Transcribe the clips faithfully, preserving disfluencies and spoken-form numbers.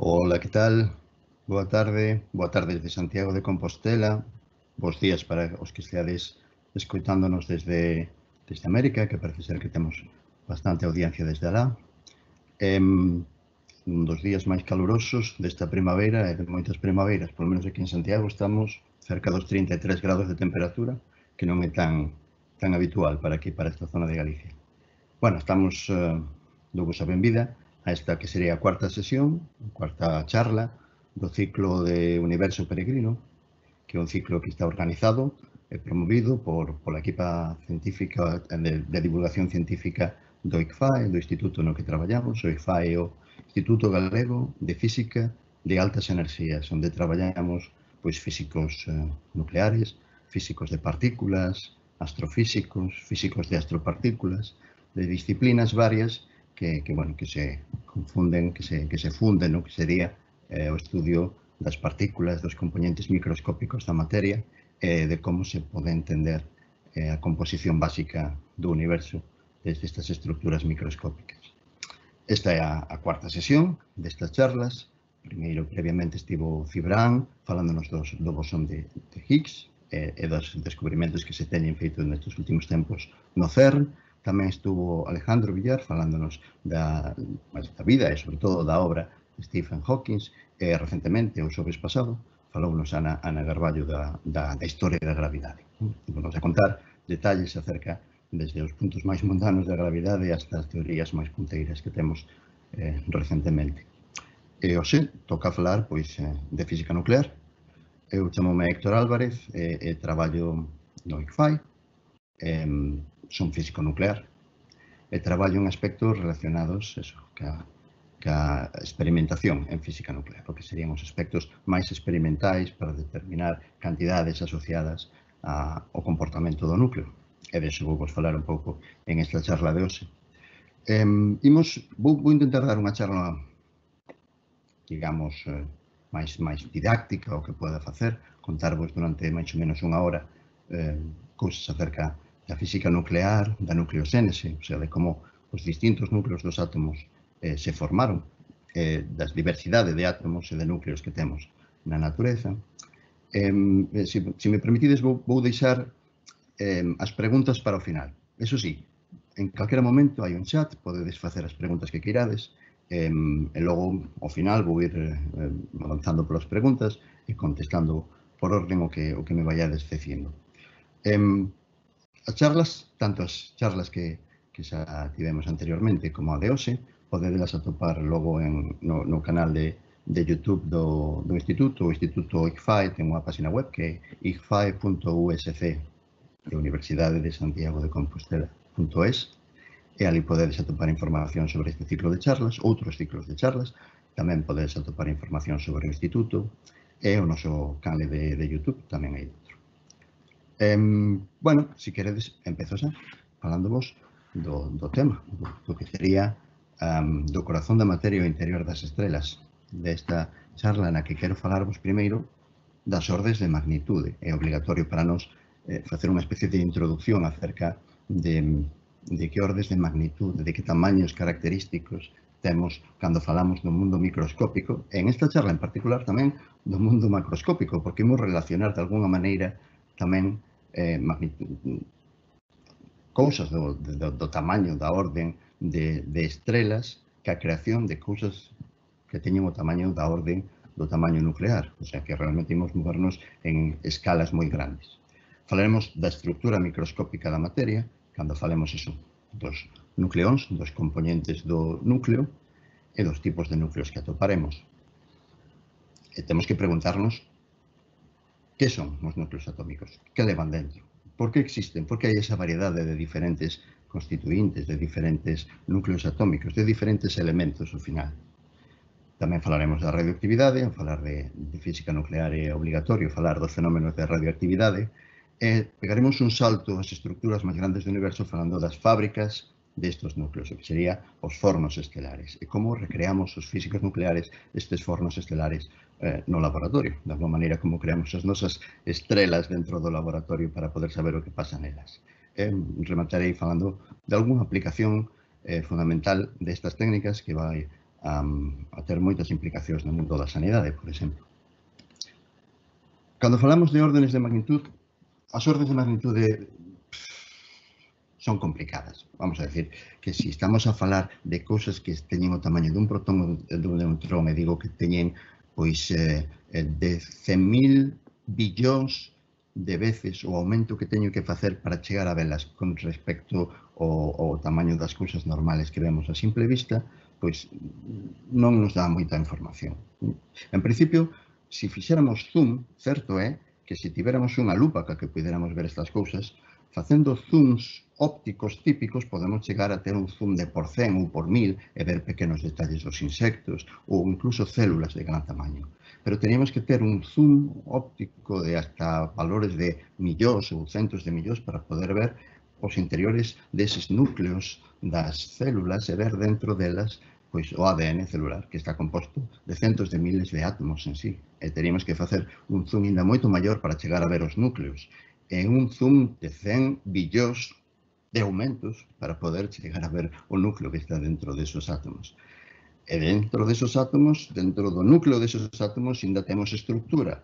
Ola, que tal? Boa tarde, boa tarde desde Santiago de Compostela. Bos días para os que esteades escoitándonos desde, desde América, que parece ser que temos bastante audiencia desde alá. Eh, un dos días máis calurosos desta primavera e de moitas primaveras, polo menos aquí en Santiago estamos cerca dos trinta e tres grados de temperatura, que non é tan, tan habitual para aquí, para esta zona de Galicia. Bueno, estamos, eh, douvos a benvida a esta que sería a cuarta sesión, a cuarta charla do ciclo de Universo Peregrino, que é un ciclo que está organizado e promovido por, pola equipa científica de, de divulgación científica do I C F A E, do instituto no que traballamos. O I C F A E é o Instituto Galego de Física de Altas Enerxías, onde traballamos pois, físicos eh, nucleares, físicos de partículas, astrofísicos, físicos de astropartículas, de disciplinas varias que, que, bueno, que se confunden, que se, que se funden no que sería eh, o estudio das partículas, dos componentes microscópicos da materia e de como se pode entender eh, a composición básica do universo desde estas estructuras microscópicas. Esta é a, a cuarta sesión destas charlas. Primeiro, previamente, estivo Cibran falándonos dos, do bosón de, de Higgs e, e dos descubrimentos que se teñen feito nestes últimos tempos no CERN. Tamén estuvo Alejandro Villar falándonos da, da vida e, sobre todo, da obra de Stephen Hawking. E, recentemente, o xoves pasado, falounos Ana, Ana Garballo da, da, da historia da gravidade. Vamos a contar detalles acerca desde os puntos máis mundanos da gravidade hasta as teorías máis punteiras que temos eh, recentemente. E hoxe toca falar pois, de física nuclear. Eu chamome Héctor Álvarez e, e traballo no I C F A E. Eh, son físico nuclear e traballo en aspectos relacionados eso, ca, ca experimentación en física nuclear, o que serían os aspectos máis experimentais para determinar cantidades asociadas a, ao comportamento do núcleo. E deso vou vos falar un pouco en esta charla de hoxe. Eh, imos, vou, vou intentar dar unha charla, digamos, eh, máis, máis didáctica, o que poda facer, contarvos durante máis ou menos unha hora eh, cousas acerca da física nuclear, da nucleosénese, o sea, de como os distintos núcleos dos átomos eh, se formaron, eh, das diversidade de átomos e de núcleos que temos na natureza. Eh, se, se me permitides, vou, vou deixar eh, as preguntas para o final. Eso sí, en calquera momento hai un chat, podedes facer as preguntas que queirades, eh, e logo, ao final, vou ir eh, avanzando polas preguntas e contestando por orden o que, o que me vayades dicindo. Eh, As charlas, tanto as charlas que, que xa tivemos anteriormente como a de hoxe, podedelas atopar logo en, no, no canal de, de YouTube do, do Instituto. O Instituto I C F A E ten unha página web que é i c f a e punto u s c de Universidade de Santiago de Compostela punto es e ali podedes atopar información sobre este ciclo de charlas, outros ciclos de charlas. Tamén podedes atopar información sobre o Instituto e o noso canal de, de YouTube tamén hai dentro. Eh, bueno, se si queredes, empezo xa falándovos do, do tema, do, do que sería um, do corazón da materia o interior das estrelas, desta charla na que quero falarvos primeiro das ordes de magnitude. É obligatorio para nós eh, facer unha especie de introducción acerca de, de que ordes de magnitude, de que tamaños característicos temos cando falamos do mundo microscópico, e en esta charla en particular tamén do mundo macroscópico, porque imos relacionar de alguna maneira tamén Eh, cousas do, do, do tamaño, da orden de, de estrelas, que a creación de cousas que teñen o tamaño da orden do tamaño nuclear, o sea que realmente imos movernos en escalas moi grandes. Falaremos da estructura microscópica da materia, cando falemos eso, dos nucleóns, dos componentes do núcleo e dos tipos de núcleos que atoparemos. E temos que preguntarnos que son os núcleos atómicos? Que levan dentro? Por que existen? Por que hai esa variedade de diferentes constituintes, de diferentes núcleos atómicos, de diferentes elementos ao final? Tamén falaremos da radioactividade, ao falar de, de física nuclear é obligatorio falar dos fenómenos de radioactividade, e pegaremos un salto ás estructuras máis grandes do universo falando das fábricas destes núcleos, o que sería os fornos estelares, e como recreamos os físicos nucleares estes fornos estelares eh, no laboratorio, de alguma maneira como creamos as nosas estrelas dentro do laboratorio para poder saber o que pasa nelas. Eh, rematarei falando de algunha aplicación eh, fundamental destas técnicas que vai a, a ter moitas implicacións no mundo da sanidade, por exemplo. Cando falamos de órdenes de magnitud, as órdenes de magnitud son complicadas. Vamos a decir que se si estamos a falar de cousas que teñen o tamaño dun protón e dun neutrón, e digo que teñen pois eh, de cen mil billóns de veces o aumento que teño que facer para chegar a velas con respecto ao, ao tamaño das cousas normales que vemos a simple vista, pois non nos dá moita información. En principio, se fixéramos zoom, certo é que se tivéramos unha lupa ca que puidéramos ver estas cousas, facendo zooms ópticos típicos podemos chegar a ter un zoom de por cen ou por mil e ver pequenos detalles dos insectos ou incluso células de gran tamaño. Pero teníamos que ter un zoom óptico de hasta valores de millóns ou centos de millóns para poder ver os interiores deses núcleos das células e ver dentro delas pois o A D N celular, que está composto de centos de miles de átomos en sí. E teríamos que facer un zoom ainda moito maior para chegar a ver os núcleos. E un zoom de cen billóns de aumentos para poder chegar a ver o núcleo que está dentro desos átomos. E dentro desos átomos, dentro do núcleo desos átomos, ainda temos estructura.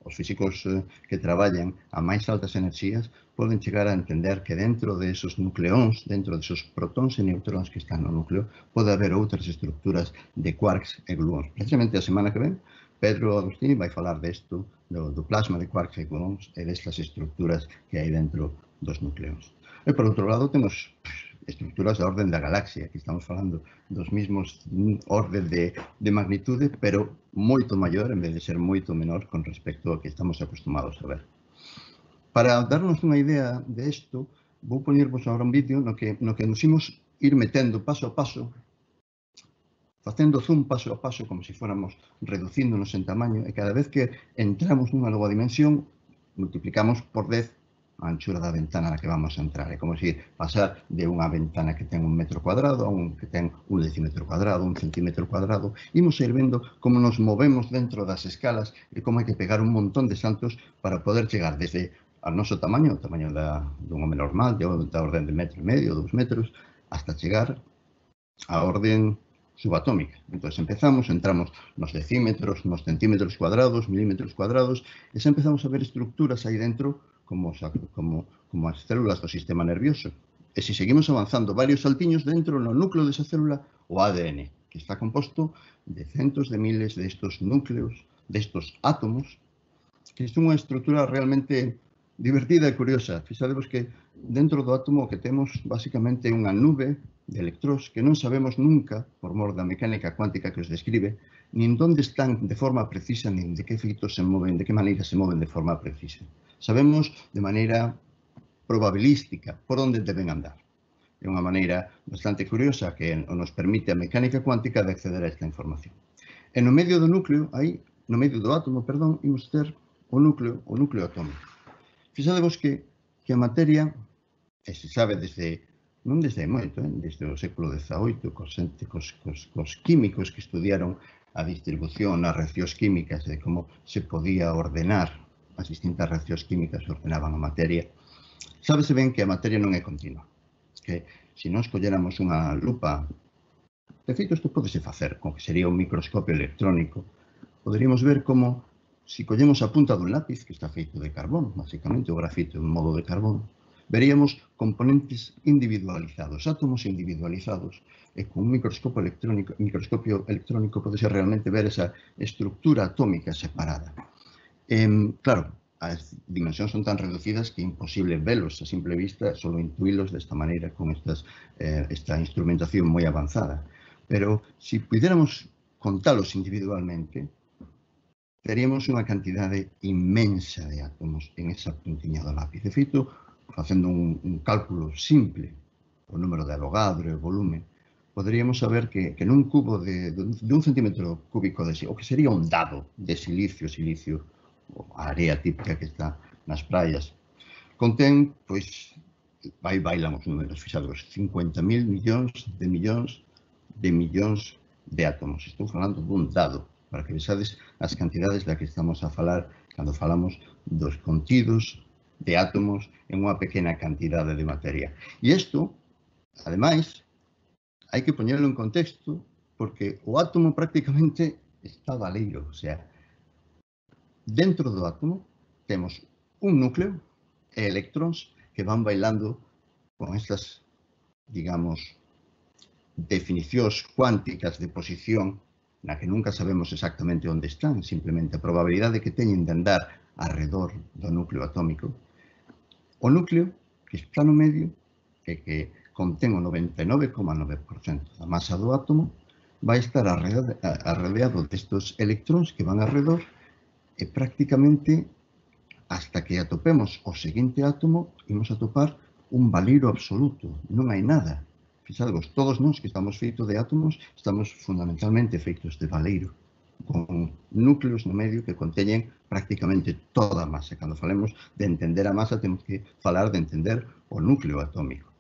Os físicos que traballan a máis altas enerxías poden chegar a entender que dentro desos nucleóns, dentro desos protóns e neutróns que están no núcleo, pode haber outras estructuras de quarks e gluóns. Precisamente a semana que ven, Pedro Agustín vai falar desto, do, do plasma de quarks e gluóns e destas estructuras que hai dentro dos nucleóns. E por outro lado temos estructuras da orden da galaxia, que estamos falando dos mismos orden de, de magnitude, pero moito maior, en vez de ser moito menor con respecto ao que estamos acostumados a ver. Para darnos unha idea de isto, vou poñervos agora un vídeo no que, no que nos imos ir metendo paso a paso, facendo zoom paso a paso, como se fóramos reducíndonos en tamaño, e cada vez que entramos nunha nova dimensión, multiplicamos por dez a anchura da ventana na que vamos a entrar. É como se pasar de unha ventana que ten un metro cuadrado a un que ten un decímetro cuadrado, un centímetro cuadrado. Imos ir vendo como nos movemos dentro das escalas e como hai que pegar un montón de saltos para poder chegar desde ao noso tamaño, o tamaño da, dun home normal, de, da orden de metro e medio, dous metros, hasta chegar á orden subatómica. Entón, empezamos, entramos nos decímetros, nos centímetros cuadrados, milímetros cuadrados, e xa empezamos a ver estructuras aí dentro como, como, como as células do sistema nervioso. E se seguimos avanzando varios saltiños dentro no núcleo desa célula, o A D N, que está composto de centos de miles destos núcleos, destos átomos, que é unha estrutura realmente divertida e curiosa. Fixadevos que dentro do átomo que temos basicamente unha nube de electróns que non sabemos nunca, por mor da mecánica cuántica que os describe, nin onde están de forma precisa, nin de que efeitos se moven, de que maneira se moven de forma precisa. Sabemos de maneira probabilística por onde deben andar. É unha maneira bastante curiosa que nos permite a mecánica cuántica de acceder a esta información. E no medio do núcleo, aí, no medio do átomo, perdón, imos ter o núcleo, o núcleo atómico. Fixadevos que, que a materia, e se sabe desde, non desde moito, eh, desde o século dezaoito, cos, cos, cos, cos químicos que estudiaron a distribución nas reaccións químicas de como se podía ordenar as distintas reaccións químicas que ordenaban a materia, sábese ben que a materia non é continua, que se nós colléramos unha lupa, de feito isto podese facer con que sería un microscopio electrónico, poderíamos ver como se collemos a punta dun lápiz que está feito de carbón, basicamente o grafito é un modo de carbón, veríamos componentes individualizados, átomos individualizados, e con un microscopio electrónico, microscopio electrónico podese realmente ver esa estructura atómica separada. Eh, claro, as dimensións son tan reducidas que é imposible velos a simple vista, solo intuílos desta maneira con estas, eh, esta instrumentación moi avanzada. Pero se puidéramos contalos individualmente, teríamos unha cantidade inmensa de átomos en esa puntiña do lápiz. De feito, facendo un, un cálculo simple, o número de Avogadro e o volumen, poderíamos saber que, que nun cubo de, de un centímetro cúbico de o que sería un dado de silicio, silicio, a area típica que está nas praias, contén, pois, vai bailan os números, fixados, cincuenta mil millóns de millóns de millóns de átomos. Estou falando dun dado, para que vexades as cantidades da que estamos a falar cando falamos dos contidos de átomos en unha pequena cantidade de materia. E isto, ademais, hai que poñerlo en contexto porque o átomo prácticamente está baleiro, o sea, dentro do átomo temos un núcleo e electróns que van bailando con estas, digamos, definicións cuánticas de posición na que nunca sabemos exactamente onde están, simplemente a probabilidade que teñen de andar arredor do núcleo atómico. O núcleo que está no medio e que contén o noventa e nove coma nove por cento da masa do átomo vai estar arrodeado destes electróns que van arredor e prácticamente hasta que atopemos o seguinte átomo imos atopar un baleiro absoluto, non hai nada. Fixadevos, todos nós que estamos feitos de átomos estamos fundamentalmente feitos de baleiro, con núcleos no medio que conteñen prácticamente toda a masa. Cando falemos de entender a masa, temos que falar de entender o núcleo atómico.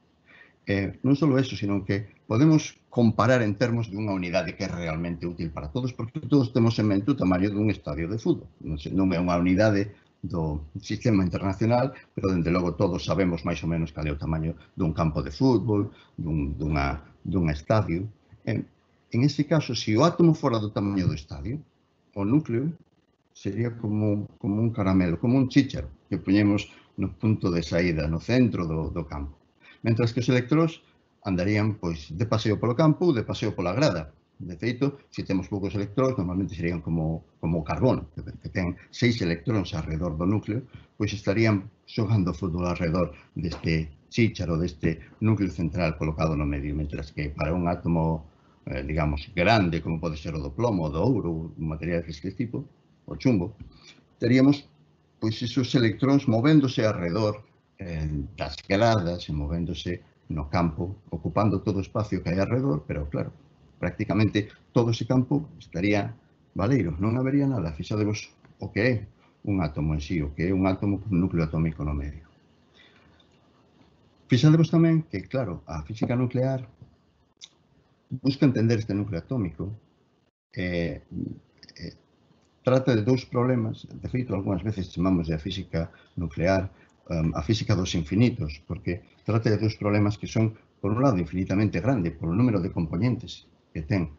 Eh, non só eso, sino que podemos comparar en termos dunha unidade que é realmente útil para todos, porque todos temos en mente o tamaño dun estadio de fútbol. Non é unha unidade do sistema internacional, pero, dende logo, todos sabemos máis ou menos cal é o tamaño dun campo de fútbol, dun, dunha, dun estadio. En, en ese caso, se o átomo fora do tamaño do estadio, o núcleo sería como, como un caramelo, como un chícharo que poñemos no punto de saída, no centro do, do campo. Mentras que os electróns andarían pois de paseo polo campo ou de paseo pola grada. De feito, se temos poucos electróns, normalmente serían como, como o carbón, que, que ten seis electróns alrededor do núcleo, pois estarían xogando fútbol alrededor deste chícharo, deste núcleo central colocado no medio, mentras que para un átomo, eh, digamos, grande, como pode ser o do plomo, o do ouro, un material deste tipo, o chumbo, teríamos pois esos electróns movéndose alrededor eh, das gradas e movéndose no campo, ocupando todo o espacio que hai alrededor, pero claro, prácticamente todo ese campo estaría baleiro, non habería nada. Fixadevos o que é un átomo en sí, o que é un átomo con núcleo atómico no medio. Fixadevos tamén que, claro, a física nuclear busca entender este núcleo atómico e eh, eh, trata de dous problemas. De feito, algunhas veces chamamos de a física nuclear um, a física dos infinitos, porque trata de dous problemas que son, por un lado, infinitamente grande, por o número de componentes que ten,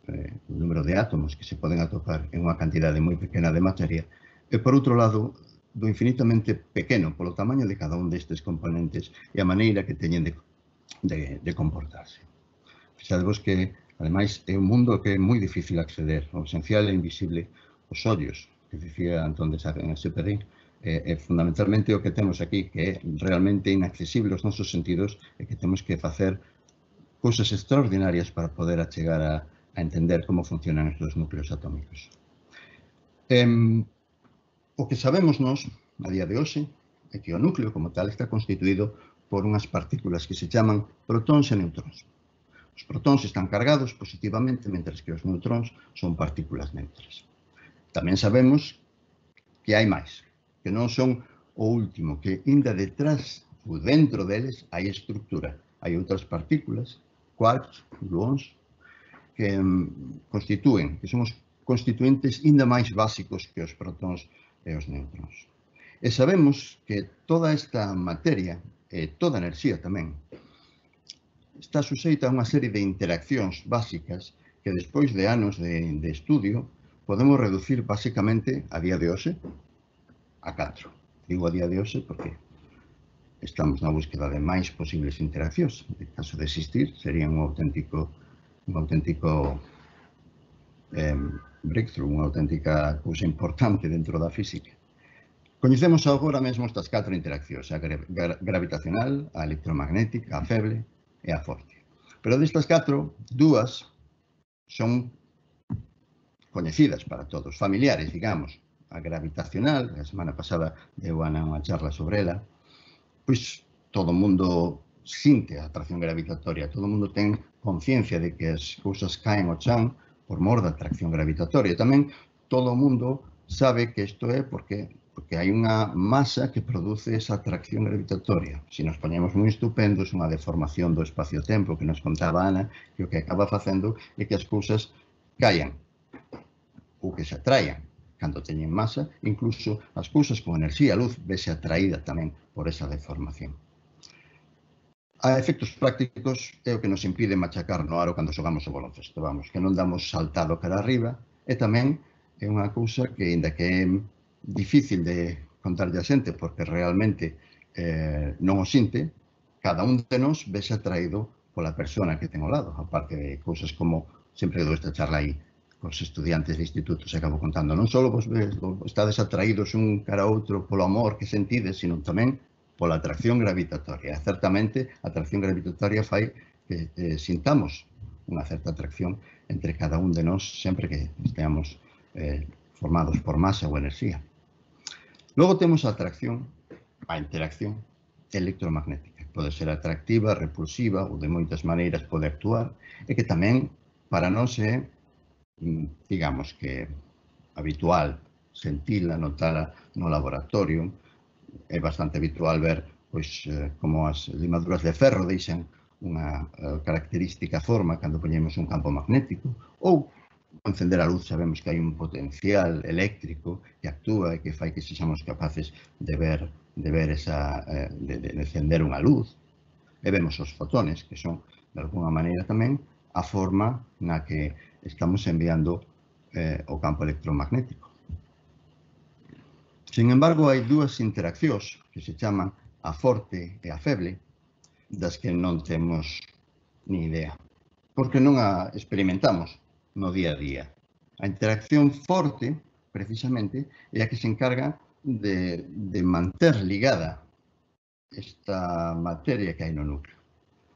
eh, o número de átomos que se poden atopar en unha cantidade moi pequena de materia, e, por outro lado, do infinitamente pequeno, polo tamaño de cada un destes componentes e a maneira que teñen de, de, de comportarse. Fixadevos que, ademais, é un mundo que é moi difícil acceder, o esencial e invisible, os ollos, que dicía Antón de Saint-Exupéry, é, é fundamentalmente o que temos aquí, que é realmente inaccesible aos nosos sentidos e que temos que facer cousas extraordinarias para poder achegar a, a entender como funcionan estes núcleos atómicos. Eh, o que sabemos nós, a día de hoxe, é que o núcleo como tal está constituído por unhas partículas que se chaman protóns e neutróns. Os protóns están cargados positivamente, mentres que os neutróns son partículas neutras. Tamén sabemos que hai máis, que non son o último, que ainda detrás ou dentro deles hai estructura. Hai outras partículas, quarks, gluóns, que um, constitúen, que son os constituentes ainda máis básicos que os protóns e os neutróns. E sabemos que toda esta materia, e toda a enerxía tamén, está suxeita a unha serie de interaccións básicas que despois de anos de, de estudio podemos reducir basicamente a día de hoxe a catro. Digo a día de hoxe porque estamos na búsqueda de máis posibles interaccións. En caso de existir, sería un auténtico, un auténtico eh, breakthrough, unha auténtica cousa importante dentro da física. Coñecemos agora mesmo estas catro interaccións, a gra gra gravitacional, a electromagnética, a feble e a forte. Pero destas catro, dúas son coñecidas para todos, familiares, digamos. A gravitacional, a semana pasada deu Ana unha charla sobre ela, pois todo o mundo sinte a atracción gravitatoria, todo o mundo ten conciencia de que as cousas caen ao chan por mor da atracción gravitatoria. Tamén todo o mundo sabe que isto é porque, porque hai unha masa que produce esa atracción gravitatoria. Se nos poñemos moi estupendos, unha deformación do espacio-tempo que nos contaba Ana, que o que acaba facendo é que as cousas caian ou que se atraian. Cando teñen masa, incluso as cousas con enerxía, a luz, vese atraída tamén por esa deformación. A efectos prácticos é o que nos impide machacar no aro cando xogamos o baloncesto, vamos, que non damos saltado cara arriba, e tamén é unha cousa que, ainda que é difícil de contarlle a xente, porque realmente eh, non o sinte, cada un de nós vese atraído pola persona que ten ao lado, aparte de cousas como, sempre dou esta charla aí, cos estudiantes de instituto, se acabo contando, non só vos estades atraídos un cara a outro polo amor que sentides, sino tamén pola atracción gravitatoria. Certamente, a atracción gravitatoria fai que eh, sintamos unha certa atracción entre cada un de nós sempre que esteamos eh, formados por masa ou enerxía. Logo temos a atracción, a interacción electromagnética. Pode ser atractiva, repulsiva ou de moitas maneiras pode actuar, e que tamén para nós é, digamos que, habitual sentila, notala no laboratorio. É bastante habitual ver pois, como as limaduras de ferro deixan unha característica forma cando poñemos un campo magnético, ou ao encender a luz sabemos que hai un potencial eléctrico que actúa e que fai que sexamos capaces de ver, de ver esa, de, de encender unha luz. E vemos os fotones, que son, de alguna maneira tamén, a forma na que estamos enviando eh, o campo electromagnético. Sin embargo, hai dúas interaccións que se chaman a forte e a feble, das que non temos ni idea, porque non a experimentamos no día a día. A interacción forte, precisamente, é a que se encarga de, de manter ligada esta materia que hai no núcleo.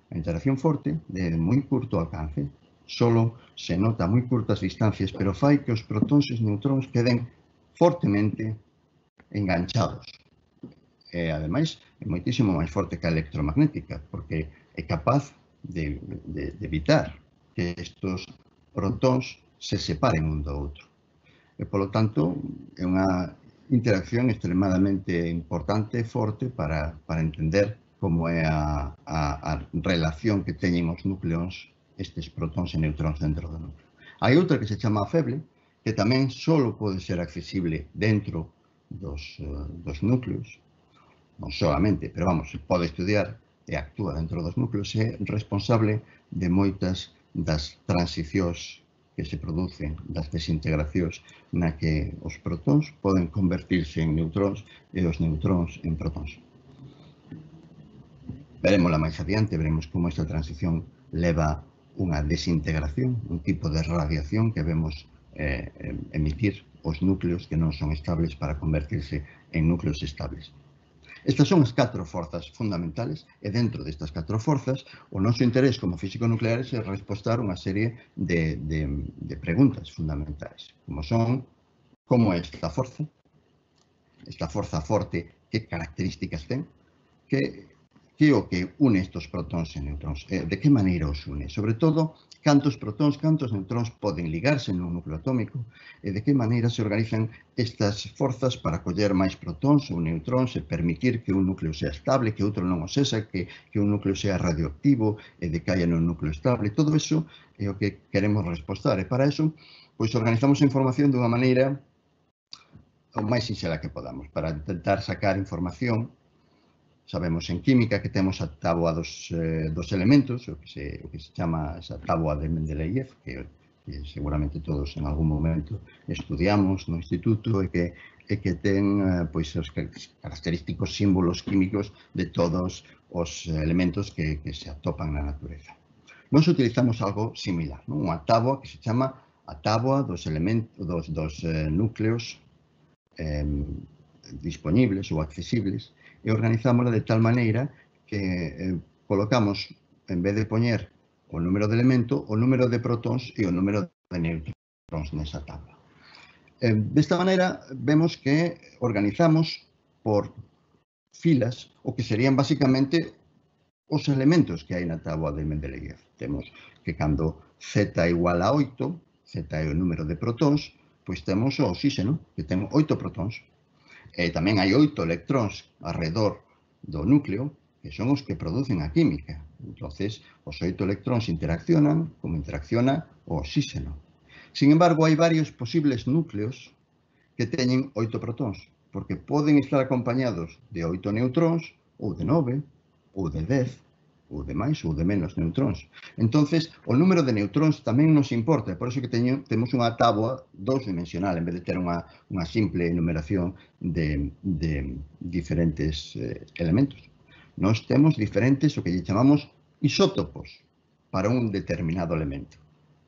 A interacción forte, de moi curto alcance, solo se nota a moi curtas distancias, pero fai que os protóns e os neutróns queden fortemente enganchados. E, ademais, é moitísimo máis forte que a electromagnética, porque é capaz de, de, de evitar que estes protóns se separen un do outro. E, polo tanto, é unha interacción extremadamente importante e forte para, para entender como é a, a, a relación que teñen os núcleos, estes protóns e neutróns dentro do núcleo. Hai outra que se chama a feble, que tamén só pode ser accesible dentro Dos, dos núcleos, non solamente, pero vamos, se pode estudiar e actúa dentro dos núcleos, é responsable de moitas das transicións que se producen, das desintegracións na que os protóns poden convertirse en neutróns e os neutróns en protóns. Veremosla máis adiante, veremos como esta transición leva unha desintegración, un tipo de radiación que vemos eh, emitir os núcleos que non son estables para convertirse en núcleos estables. Estas son as catro forzas fundamentales e dentro destas catro forzas o noso interés como físico nucleares é respostar unha serie de, de, de preguntas fundamentais, como son como é esta forza, esta forza forte, que características ten, que que é o que une estes protóns e neutróns, de que maneira os une, sobre todo, cantos protóns, cantos neutróns poden ligarse nun núcleo atómico e de que maneira se organizan estas forzas para coller máis protóns ou neutróns e permitir que un núcleo sea estable, que outro non o sexa, que, que un núcleo sea radioactivo e decaia nun núcleo estable. Todo iso é o que queremos respostar e para iso pois organizamos a información dunha maneira o máis sinxela que podamos, para intentar sacar información. Sabemos en química que temos a táboa dos, eh, dos elementos, o que, se, o que se chama esa táboa de Mendeleev, que, que seguramente todos en algún momento estudiamos no instituto e que, e que ten eh, pois, os característicos símbolos químicos de todos os elementos que, que se atopan na natureza. Nós utilizamos algo similar, non? Unha táboa que se chama a táboa dos, elementos, dos, dos eh, núcleos eh, disponibles ou accesibles, e organizámola de tal maneira que eh, colocamos, en vez de poñer o número de elemento, o número de protóns e o número de neutróns nesa tabla. Eh, desta maneira, vemos que organizamos por filas o que serían basicamente os elementos que hai na táboa de Mendeleev. Temos que cando Z igual a oito, Z é o número de protóns, pois temos o oxígeno, que ten oito protóns. E tamén hai oito electróns alrededor do núcleo, que son os que producen a química. Entonces, os oito electróns interaccionan como interacciona o oxígeno. Sin embargo, hai varios posibles núcleos que teñen oito protóns, porque poden estar acompañados de oito neutróns, ou de nove, ou de dez, ou de máis ou de menos neutróns. Entonces, o número de neutróns tamén nos importa, por iso que teño, temos unha táboa dous-dimensional, en vez de ter unha, unha simple enumeración de, de diferentes eh, elementos. Nós temos diferentes, o que lle chamamos isótopos, para un determinado elemento.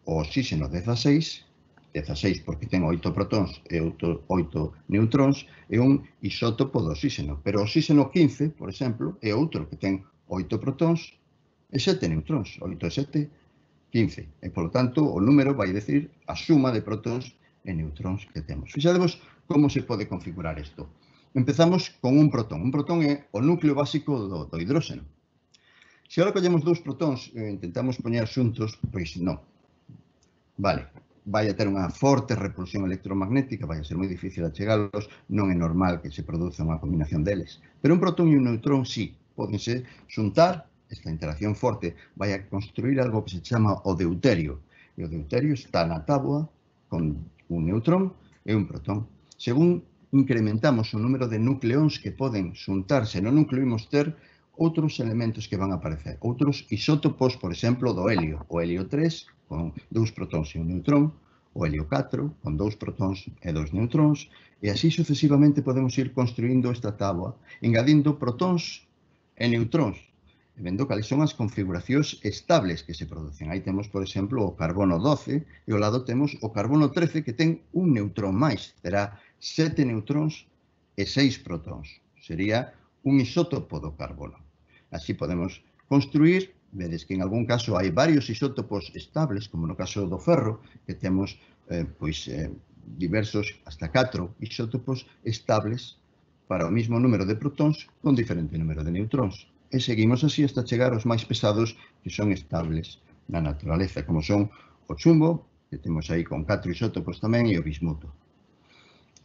O oxígeno dezaseis, dezaseis porque ten oito protóns e oito neutróns, é un isótopo do oxígeno. Pero o oxígeno quince, por exemplo, é outro que ten oito protóns e sete neutróns. oito e sete, quince. E, polo tanto, o número vai decir a suma de protóns e neutróns que temos. Fixadevos como se pode configurar isto. Empezamos con un protón. Un protón é o núcleo básico do, do hidróxeno. Se agora collemos dous protóns e intentamos poñer xuntos, pois non. Vale, vai a ter unha forte repulsión electromagnética, vai a ser moi difícil achegalos, non é normal que se produza unha combinación deles. Pero un protón e un neutrón sí, pódense xuntar, esta interacción forte vai a construir algo que se chama o deuterio. E o deuterio está na táboa con un neutrón e un protón. Según incrementamos o número de nucleóns que poden xuntarse no núcleo, imos ter outros elementos que van a aparecer. Outros isótopos, por exemplo, do helio. O helio tres, con dous protóns e un neutrón. O helio catro, con dous protóns e dous neutróns. E así sucesivamente podemos ir construindo esta táboa, engadindo protóns e neutróns. E vendo cales son as configuracións estables que se producen. Aí temos, por exemplo, o carbono doce e ao lado temos o carbono trece que ten un neutrón máis. Terá sete neutróns e seis protóns. Sería un isótopo do carbono. Así podemos construir, vedes que en algún caso hai varios isótopos estables, como no caso do ferro, que temos eh, pois, eh, diversos, hasta catro isótopos estables para o mismo número de protóns con diferente número de neutróns. E seguimos así hasta chegar aos máis pesados que son estables na naturaleza, como son o chumbo, que temos aí con catro isótopos tamén, e o bismuto.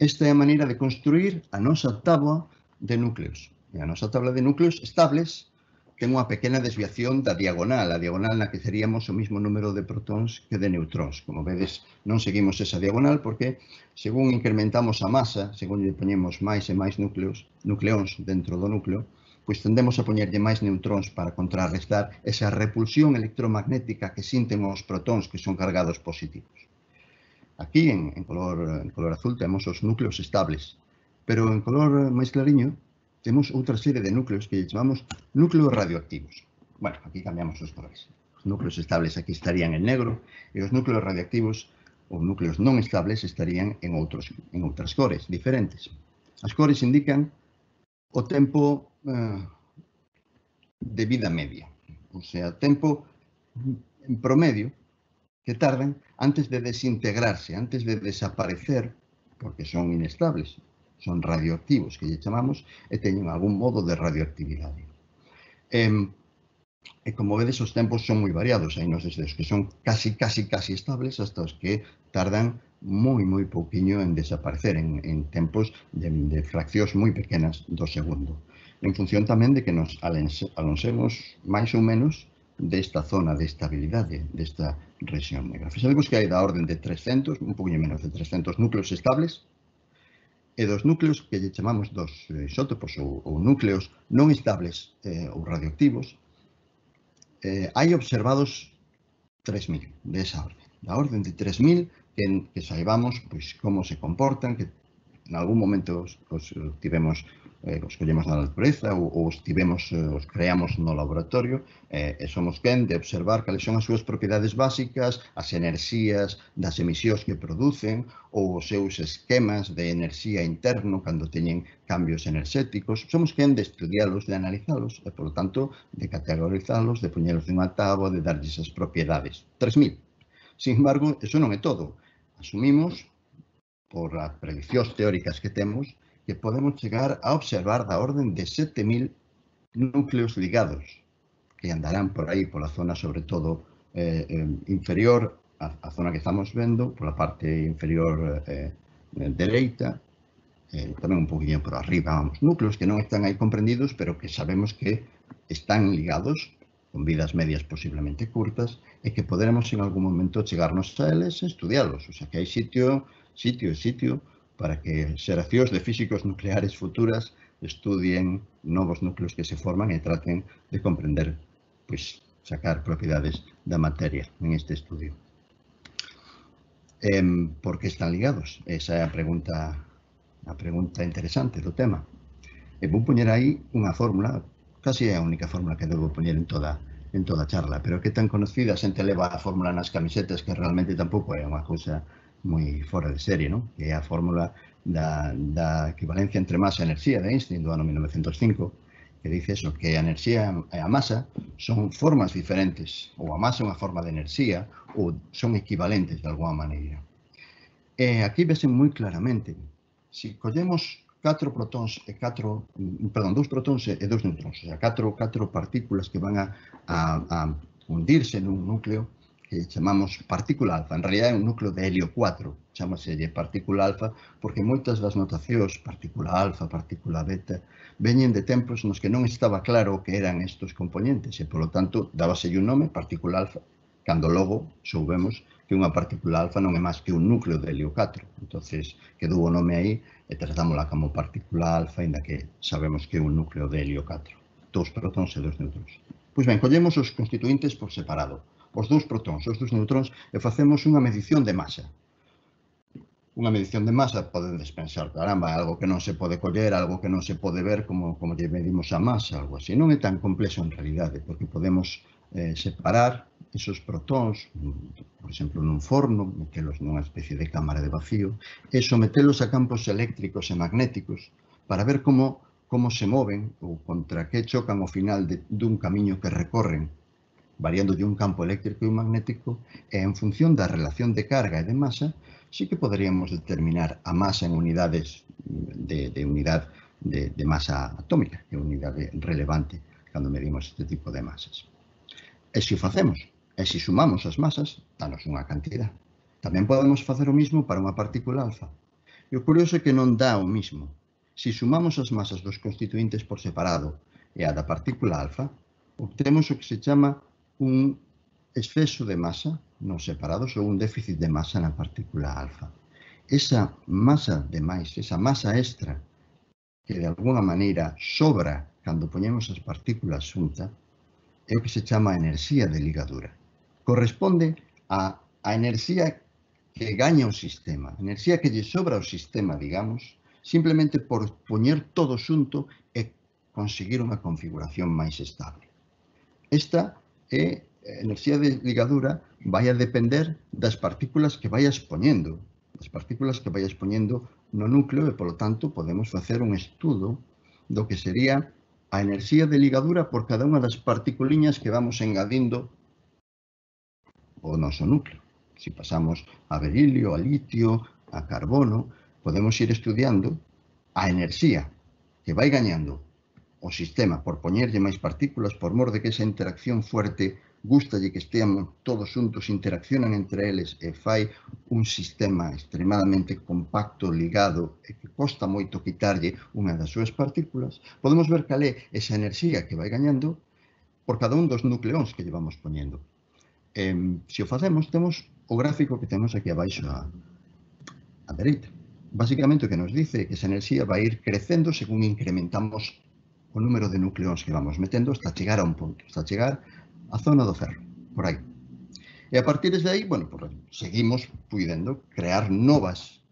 Esta é a maneira de construir a nosa táboa de núcleos. E a nosa tabla de núcleos estables ten unha pequena desviación da diagonal, a diagonal na que teríamos o mismo número de protóns que de neutróns. Como vedes, non seguimos esa diagonal porque, según incrementamos a masa, según lle poñemos máis e máis núcleos, nucleóns dentro do núcleo, pois tendemos a poñerlle máis neutróns para contrarrestar esa repulsión electromagnética que sinten os protóns que son cargados positivos. Aquí, en, en, color, en color azul, temos os núcleos estables, pero en color máis clariño, temos outra serie de núcleos que chamamos núcleos radioactivos. Bueno, aquí cambiamos os colores. Os núcleos estables aquí estarían en negro e os núcleos radioactivos ou núcleos non estables estarían en, outros, en outras cores diferentes. As cores indican o tempo eh, de vida media, o sea, tempo en promedio que tardan antes de desintegrarse, antes de desaparecer, porque son inestables. Son radioactivos, que lle chamamos, e teñen algún modo de radioactividade. E, e como vedes, os tempos son moi variados, hai nos desde os que son casi, casi, casi estables hasta os que tardan moi, moi pouquiño en desaparecer, en, en tempos de, de fraccións moi pequenas do segundo. En función tamén de que nos alonsemos máis ou menos desta zona de estabilidade, desta rexión negra. Fixadevos que hai da orden de trescentos, un poquinho menos de trescentos núcleos estables, e dos núcleos que lle chamamos dos isótopos ou, ou núcleos non estables eh, ou radioactivos, eh, hai observados tres mil de esa orden. Da orden de tres mil que, que saibamos pois, como se comportan, que en algún momento os, os tivemos, eh, os collemos na natureza ou, ou os tivemos, eh, os creamos no laboratorio eh, e somos quen de observar cales son as súas propiedades básicas, as enerxías das emisións que producen ou os seus esquemas de enerxía interno cando teñen cambios enerxéticos. Somos quen de estudialos, de analizalos e, por lo tanto, de categorizalos, de poñelos nunha táboa, de darlles as propiedades. tres mil. Sin embargo, eso non é todo. Asumimos por as prediccións teóricas que temos, que podemos chegar a observar da orden de sete mil núcleos ligados, que andarán por aí, pola zona, sobre todo, eh, eh, inferior, a, a zona que estamos vendo, pola parte inferior eh, dereita, eh, tamén un poquinho por arriba, vamos, núcleos que non están aí comprendidos, pero que sabemos que están ligados, con vidas medias posiblemente curtas, e que poderemos en algún momento chegarnos a eles e estudialos. O sea, que hai sitio, sitio e sitio para que xeracións de físicos nucleares futuras estudien novos núcleos que se forman e traten de comprender pois, sacar propiedades da materia en este estudio. Eh, por que están ligados? Esa é a pregunta, a pregunta interesante do tema. E vou poñer aí unha fórmula, casi é a única fórmula que debo poñer en toda en toda a charla, pero que tan conocida, a xente leva a fórmula nas camisetas que realmente tampouco é unha cousa moi fora de serie, non? Que é a fórmula da, da equivalencia entre masa e enerxía de Einstein do ano mil novecentos e cinco, que dice eso, que a enerxía e a masa son formas diferentes, ou a masa é unha forma de enerxía, ou son equivalentes de alguma maneira. E aquí vese moi claramente, se collemos catro protóns e catro, perdón, dous protóns e dous neutróns, o sea, catro, catro partículas que van a, a, a hundirse nun núcleo que chamamos partícula alfa. En realidad é un núcleo de helio cuatro, chamaselle partícula alfa, porque moitas das notacións, partícula alfa, partícula beta, veñen de tempos nos que non estaba claro o que eran estos componentes e, polo tanto, dábaselle un nome, partícula alfa, cando logo soubemos que unha partícula alfa non é máis que un núcleo de helio catro. Entonces, quedou o nome aí e tratámola como partícula alfa, ainda que sabemos que é un núcleo de helio catro. Dous protóns e dous neutróns. Pois ben, collemos os constituintes por separado. Os dous protóns e os dous neutróns e facemos unha medición de masa. Unha medición de masa, podedes pensar, caramba, algo que non se pode coller, algo que non se pode ver, como, como lle medimos a masa, algo así. Non é tan complexo en realidade, porque podemos eh, separar esos protóns, por exemplo, nun forno, metelos nunha especie de cámara de vacío, e sometelos a campos eléctricos e magnéticos para ver como, como se moven ou contra que chocan ao final de, dun camiño que recorren, variando de un campo eléctrico e magnético, e en función da relación de carga e de masa, sí que poderíamos determinar a masa en unidades de, de unidade de, de masa atómica, que é unidade relevante cando medimos este tipo de masas. E se o facemos, e se sumamos as masas, danos unha cantidad. Tamén podemos facer o mismo para unha partícula alfa. E o curioso é que non dá o mismo. Se sumamos as masas dos constituintes por separado e a da partícula alfa, obtemos o que se chama un exceso de masa nos separados ou un déficit de masa na partícula alfa. Esa masa de máis, esa masa extra que de alguna maneira sobra cando poñemos as partículas xuntas, é o que se chama enerxía de ligadura. Corresponde a, a enerxía que gaña o sistema, a enerxía que lle sobra ao sistema, digamos, simplemente por poñer todo xunto e conseguir unha configuración máis estable. Esta é a enerxía de ligadura vai a depender das partículas que vayas poñendo, das partículas que vayas poñendo no núcleo e, polo tanto, podemos facer un estudo do que sería a enerxía de ligadura por cada unha das particuliñas que vamos engadindo o noso núcleo. Se pasamos a berilio, a litio, a carbono, podemos ir estudiando a enerxía que vai gañando o sistema por poñerlle máis partículas, por mor de que esa interacción fuerte gustalle que esteamos todos xuntos, interaccionan entre eles e fai un sistema extremadamente compacto, ligado, e que costa moito quitarlle unha das súas partículas. Podemos ver cal é esa enerxía que vai gañando por cada un dos nucleóns que llevamos poñendo. Eh, se o facemos, temos o gráfico que temos aquí abaixo a, a dereita. Basicamente o que nos dice é que esa enerxía vai ir crecendo según incrementamos o número de nucleóns que vamos metendo hasta chegar a un punto, hasta chegar a zona do ferro, por aí. E a partir de aí, bueno, pues, seguimos puidendo crear novas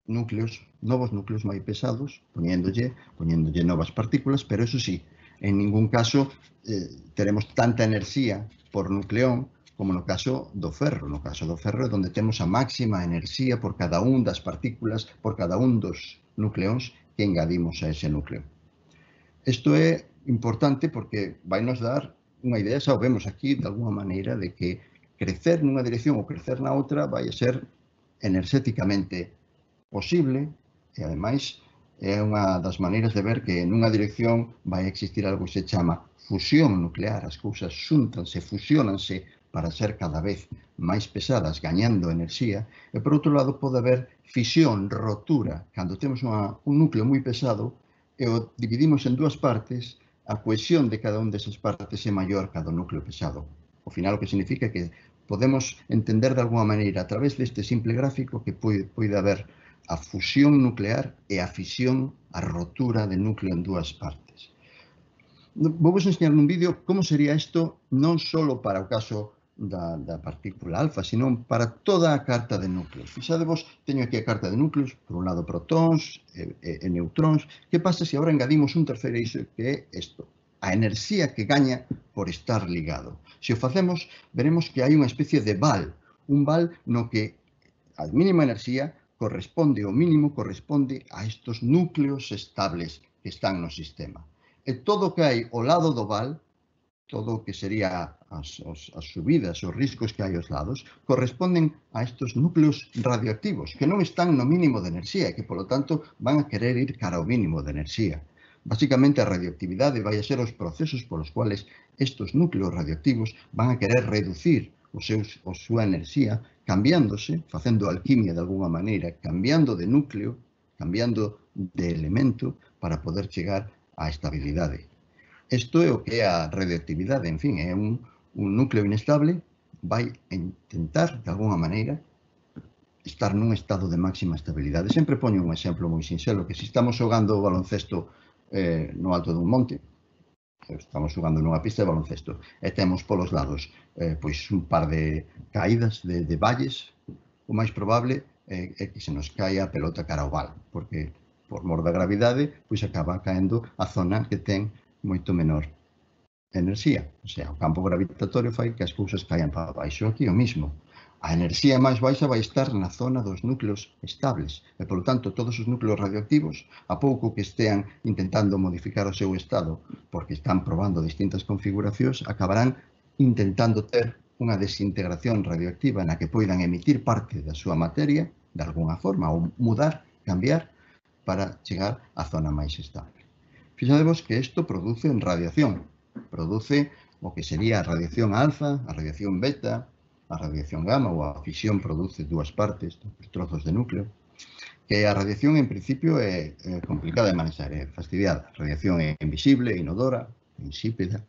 núcleos, novos núcleos máis pesados, poñéndolle, poñéndolle novas partículas, pero eso sí, en ningún caso eh, teremos tanta enerxía por nucleón como no caso do ferro. No caso do ferro é onde temos a máxima enerxía por cada un das partículas, por cada un dos nucleóns que engadimos a ese núcleo. Isto é importante porque vai nos dar unha idea, xa o vemos aquí, de alguma maneira, de que crecer nunha dirección ou crecer na outra vai a ser enerxéticamente posible e, ademais, é unha das maneiras de ver que nunha dirección vai existir algo que se chama fusión nuclear. As cousas xúntanse, fusionanse para ser cada vez máis pesadas, gañando enerxía, e por outro lado pode haber fisión, rotura, cando temos unha, un núcleo moi pesado e o dividimos en dúas partes, a cohesión de cada un desas partes é maior cada núcleo pesado. Ao final o que significa que podemos entender de alguma maneira a través deste simple gráfico que pode, pode haber a fusión nuclear e a fisión, a rotura de núcleo en dúas partes. Vou vos enseñar nun vídeo como sería isto non só para o caso da, da partícula alfa, sino para toda a carta de núcleos. Fixadevos, teño aquí a carta de núcleos, por un lado protóns e, e, e neutróns. Que pasa se agora engadimos un terceiro eixo que é isto? A enerxía que gaña por estar ligado. Se o facemos, veremos que hai unha especie de val, un val no que a mínima enerxía corresponde, o mínimo corresponde a estos núcleos estables que están no sistema. E todo o que hai ao lado do val, todo o que sería as, as, as subidas, os riscos que hai aos lados, corresponden a estes núcleos radioactivos, que non están no mínimo de enerxía e que, polo tanto, van a querer ir cara ao mínimo de enerxía. Básicamente, a radioactividade vai a ser os procesos polos cuales estes núcleos radioactivos van a querer reducir os seus, a súa enerxía, cambiándose, facendo alquimia de alguna maneira, cambiando de núcleo, cambiando de elemento para poder chegar a estabilidade. Isto é o que é a radioactividade, en fin, é un, un núcleo inestable, vai intentar, de alguna maneira, estar nun estado de máxima estabilidade. Sempre poño un exemplo moi sinxelo, que se estamos xogando o baloncesto eh, no alto dun monte, estamos xogando nunha pista de baloncesto, e temos polos lados eh, pois un par de caídas de, de valles, o máis probable é, é que se nos caia a pelota cara ao val, porque por mor da gravidade, pois acaba caendo a zona que ten moito menor enerxía. O sea, o campo gravitatorio fai que as cousas caian para baixo. Aquí o mismo. A enerxía máis baixa vai estar na zona dos núcleos estables. E, polo tanto, todos os núcleos radioactivos, a pouco que estean intentando modificar o seu estado, porque están probando distintas configuracións, acabarán intentando ter unha desintegración radioactiva na que poidan emitir parte da súa materia, de alguna forma, ou mudar, cambiar, para chegar á zona máis estable. Fixadevos que isto produce radiación, produce o que sería a radiación alfa, a radiación beta, a radiación gamma, ou a fisión produce dúas partes, os trozos de núcleo, que a radiación en principio é, é complicada de manexar, é fastidiada. A radiación é invisible, inodora, insípida,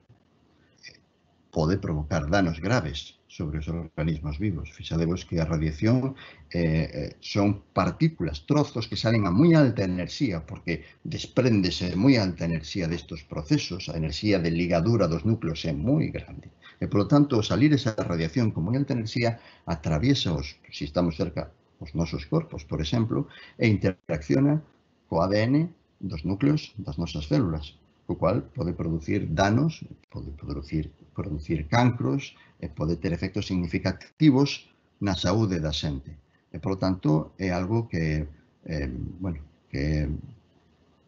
pode provocar danos graves sobre os organismos vivos. Fixadevos que a radiación eh, son partículas, trozos que salen a moi alta enerxía, porque despréndese moi alta enerxía destes procesos, a enerxía de ligadura dos núcleos é moi grande. E, polo tanto, salir esa radiación con moi alta enerxía atraviesa os, se estamos cerca, os nosos corpos, por exemplo, e interacciona co A D N dos núcleos das nosas células, o cual pode producir danos, pode producir, producir cancros e pode ter efectos significativos na saúde da xente. E, polo tanto, é algo que, eh, bueno, que é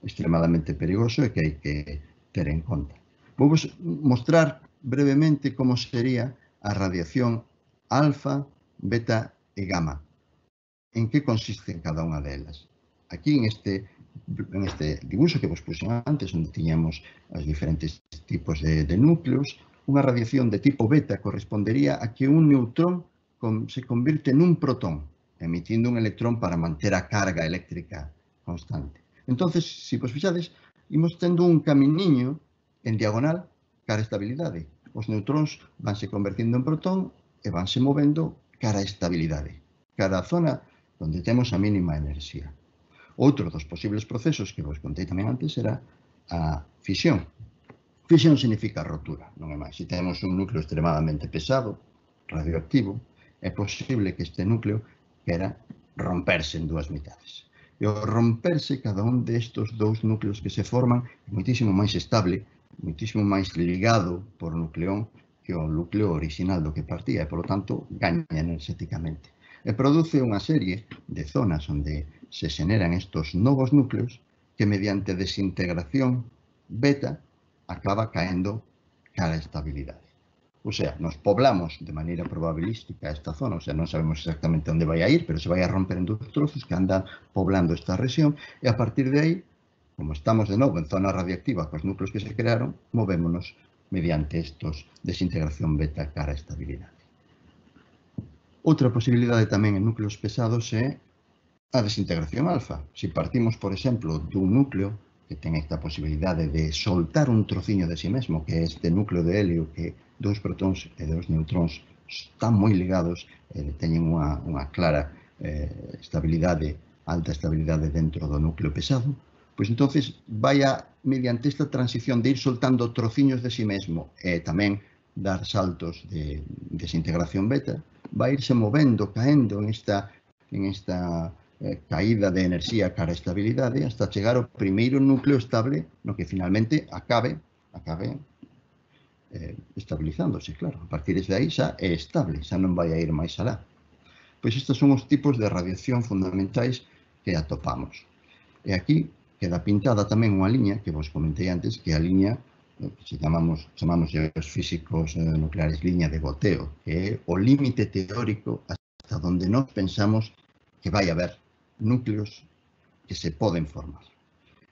extremadamente perigoso e que hai que ter en conta. Vou vos mostrar brevemente como sería a radiación alfa, beta e gamma. En que consiste cada unha delas? Aquí, en este en este dibuixo que vos puxen antes, onde tiñamos os diferentes tipos de, de núcleos, unha radiación de tipo beta correspondería a que un neutrón con, se convirte nun protón, emitindo un electrón para manter a carga eléctrica constante. Entonces, se vos fixades, imos tendo un caminiño en diagonal cara a estabilidade. Os neutróns vanse convertindo en protón e vanse movendo cara a estabilidade, cara a zona onde temos a mínima enerxía. Outro dos posibles procesos que vos contei tamén antes era a fisión. Fisión significa rotura, non é máis. Se temos un núcleo extremadamente pesado, radioactivo, é posible que este núcleo quera romperse en dúas mitades. E ao romperse, cada un destes dous núcleos que se forman é moitísimo máis estable, moitísimo máis ligado por nucleón que o núcleo original do que partía e, polo tanto, gaña enerxéticamente. E produce unha serie de zonas onde se xeneran estos novos núcleos que mediante desintegración beta acaba caendo cara a estabilidade. O sea, nos poblamos de maneira probabilística esta zona, o sea, non sabemos exactamente onde vai a ir, pero se vai a romper en dous trozos que andan poblando esta rexión e a partir de aí, como estamos de novo en zona radiactiva cos núcleos que se crearon, movémonos mediante estos desintegración beta cara a estabilidade. Outra posibilidade tamén en núcleos pesados é a desintegración alfa. Se partimos, por exemplo, dun núcleo que ten esta posibilidade de soltar un trociño de si mesmo, que é este núcleo de helio que dous protóns e dous neutróns están moi ligados e teñen unha, unha clara eh, estabilidade, alta estabilidade dentro do núcleo pesado, Pois entonces vai a, mediante esta transición de ir soltando trociños de si mesmo e tamén dar saltos de desintegración beta, vai irse movendo, caendo en esta, en esta eh, caída de enerxía cara a estabilidade hasta chegar ao primeiro núcleo estable no que finalmente acabe, acabe eh, estabilizándose, claro. A partir de aí xa é estable, xa non vai a ir máis alá. Pois estes son os tipos de radiación fundamentais que atopamos. E aquí queda pintada tamén unha liña que vos comentei antes, que é a liña que chamamos, chamamos os físicos nucleares liña de goteo, que é o límite teórico hasta onde nós pensamos que vai haber núcleos que se poden formar.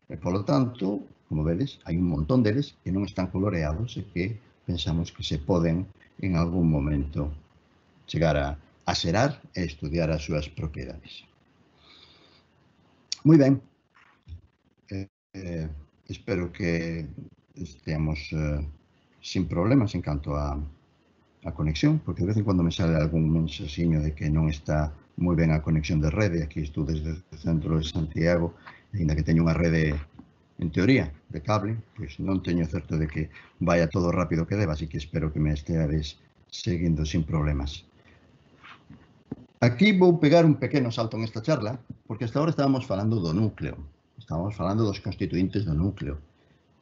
E, polo tanto, como vedes, hai un montón deles que non están coloreados e que pensamos que se poden en algún momento chegar a, a xerar e estudiar as súas propiedades. Moi ben. Eh, eh, espero que esteamos eh, sin problemas en canto a, a conexión, porque de vez en cuando me sale algún mensaxiño de que non está moi ben a conexión de rede. Aquí estou desde o centro de Santiago, ainda que teño unha rede, en teoría, de cable, pois non teño certo de que vaya todo rápido que deba, así que espero que me esteades seguindo sin problemas. Aquí vou pegar un pequeno salto en esta charla, porque hasta ahora estábamos falando do núcleo, estábamos falando dos constituintes do núcleo,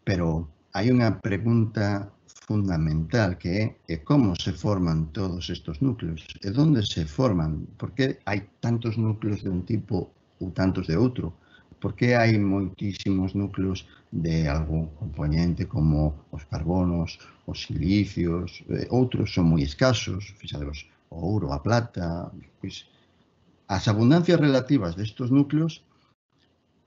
pero hai unha pregunta fundamental que é como se forman todos estos núcleos e onde se forman, por que hai tantos núcleos de un tipo ou tantos de outro, por que hai moitísimos núcleos de algún componente como os carbonos, os silicios, outros son moi escasos, fixadevos, o ouro, a plata, pois as abundancias relativas destes núcleos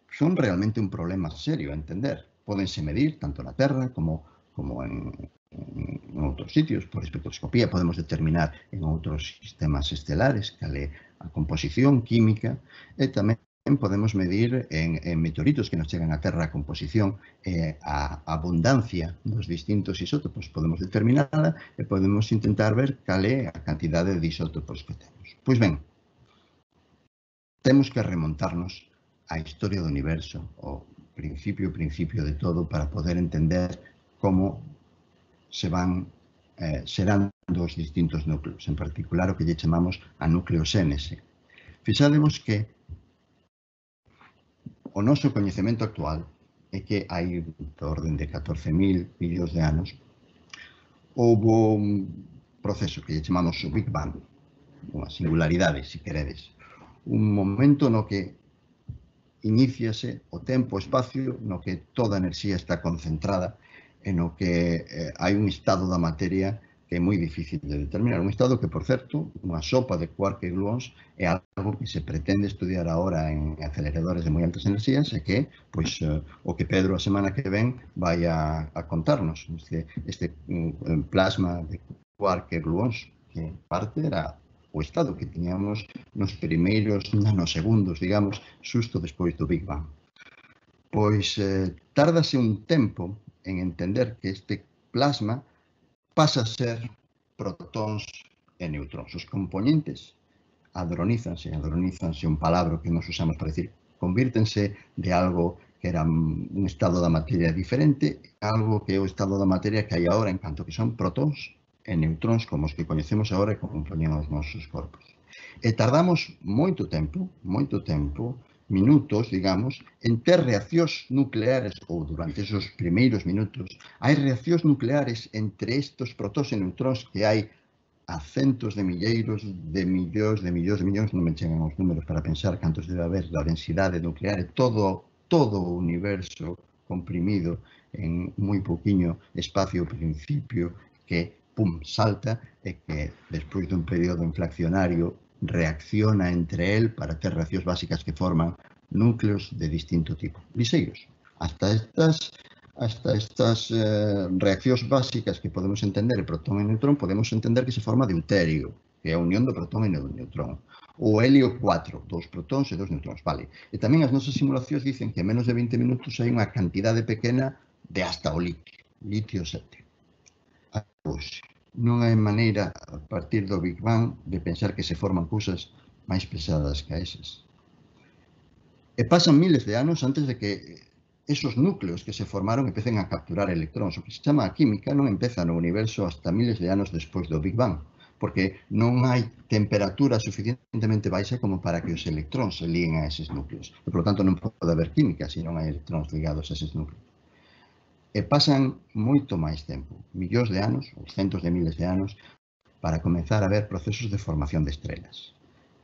son realmente un problema serio a entender. Pódense medir tanto na Terra como, como en, en outros sitios. Por espectroscopía podemos determinar en outros sistemas estelares cal é a composición química e tamén podemos medir en, en meteoritos que nos chegan á Terra a composición e a abundancia dos distintos isótopos. Podemos determinarla e podemos intentar ver cal é a cantidade de isótopos que temos. Pois ben, temos que remontarnos á historia do universo, o principio, principio de todo, para poder entender como se van eh, xerando os distintos núcleos, en particular o que lle chamamos a nucleoxénese. Fixadevos que o noso coñecemento actual é que hai de orden de catorce mil millóns de anos houve un proceso que lle chamamos o Big Bang, unha singularidade, se queredes, un momento no que iníciase o tempo, o espacio, no que toda a enerxía está concentrada e no que eh, hai un estado da materia que é moi difícil de determinar. Un estado que, por certo, unha sopa de quark e gluons é algo que se pretende estudiar agora en aceleradores de moi altas enerxías e que, pois, eh, o que Pedro a semana que ven vai a, a contarnos. Este, este um, plasma de quark e gluons, que parte era o estado que tiñamos nos primeiros nanosegundos, digamos, xusto despois do Big Bang. Pois eh, tárdase un tempo en entender que este plasma pasa a ser protóns e neutróns. Os componentes hadronízanse, hadronízanse un palabra que nos usamos para decir, convírtense de algo que era un estado da materia diferente a algo que é o estado da materia que hai agora, en canto que son protóns e neutróns como os que coñecemos agora e que compoñen os nosos corpos. E tardamos moito tempo, moito tempo, minutos, digamos, en ter reaccións nucleares, ou durante esos primeiros minutos, hai reaccións nucleares entre estos protóns e neutróns que hai a centos de milleiros de millóns, de millóns de millóns, non me chegan os números para pensar cantos debe haber da densidade nuclear e todo, todo o universo comprimido en moi pouquiño espacio principio que pum, salta e que despois dun período inflacionario reacciona entre el para ter reaccións básicas que forman núcleos de distinto tipo, liseiros. Hasta estas, hasta estas eh, reaccións básicas que podemos entender de protón e neutrón, podemos entender que se forma deuterio, que é a unión do protón e do neutrón. O helio catro, dous protóns e dous neutróns, vale. E tamén as nosas simulacións dicen que en menos de vinte minutos hai unha cantidade pequena de hasta o litio, litio sete. Pois, non hai maneira, a partir do Big Bang, de pensar que se forman cousas máis pesadas que esas. E pasan miles de anos antes de que esos núcleos que se formaron empecen a capturar electróns. O que se chama a química non empeza no universo hasta miles de anos despois do Big Bang, porque non hai temperatura suficientemente baixa como para que os electróns se liguen a eses núcleos. E, por lo tanto, non pode haber química se non hai electróns ligados a eses núcleos. E pasan moito máis tempo, millóns de anos, ou centos de miles de anos, para comenzar a ver procesos de formación de estrelas.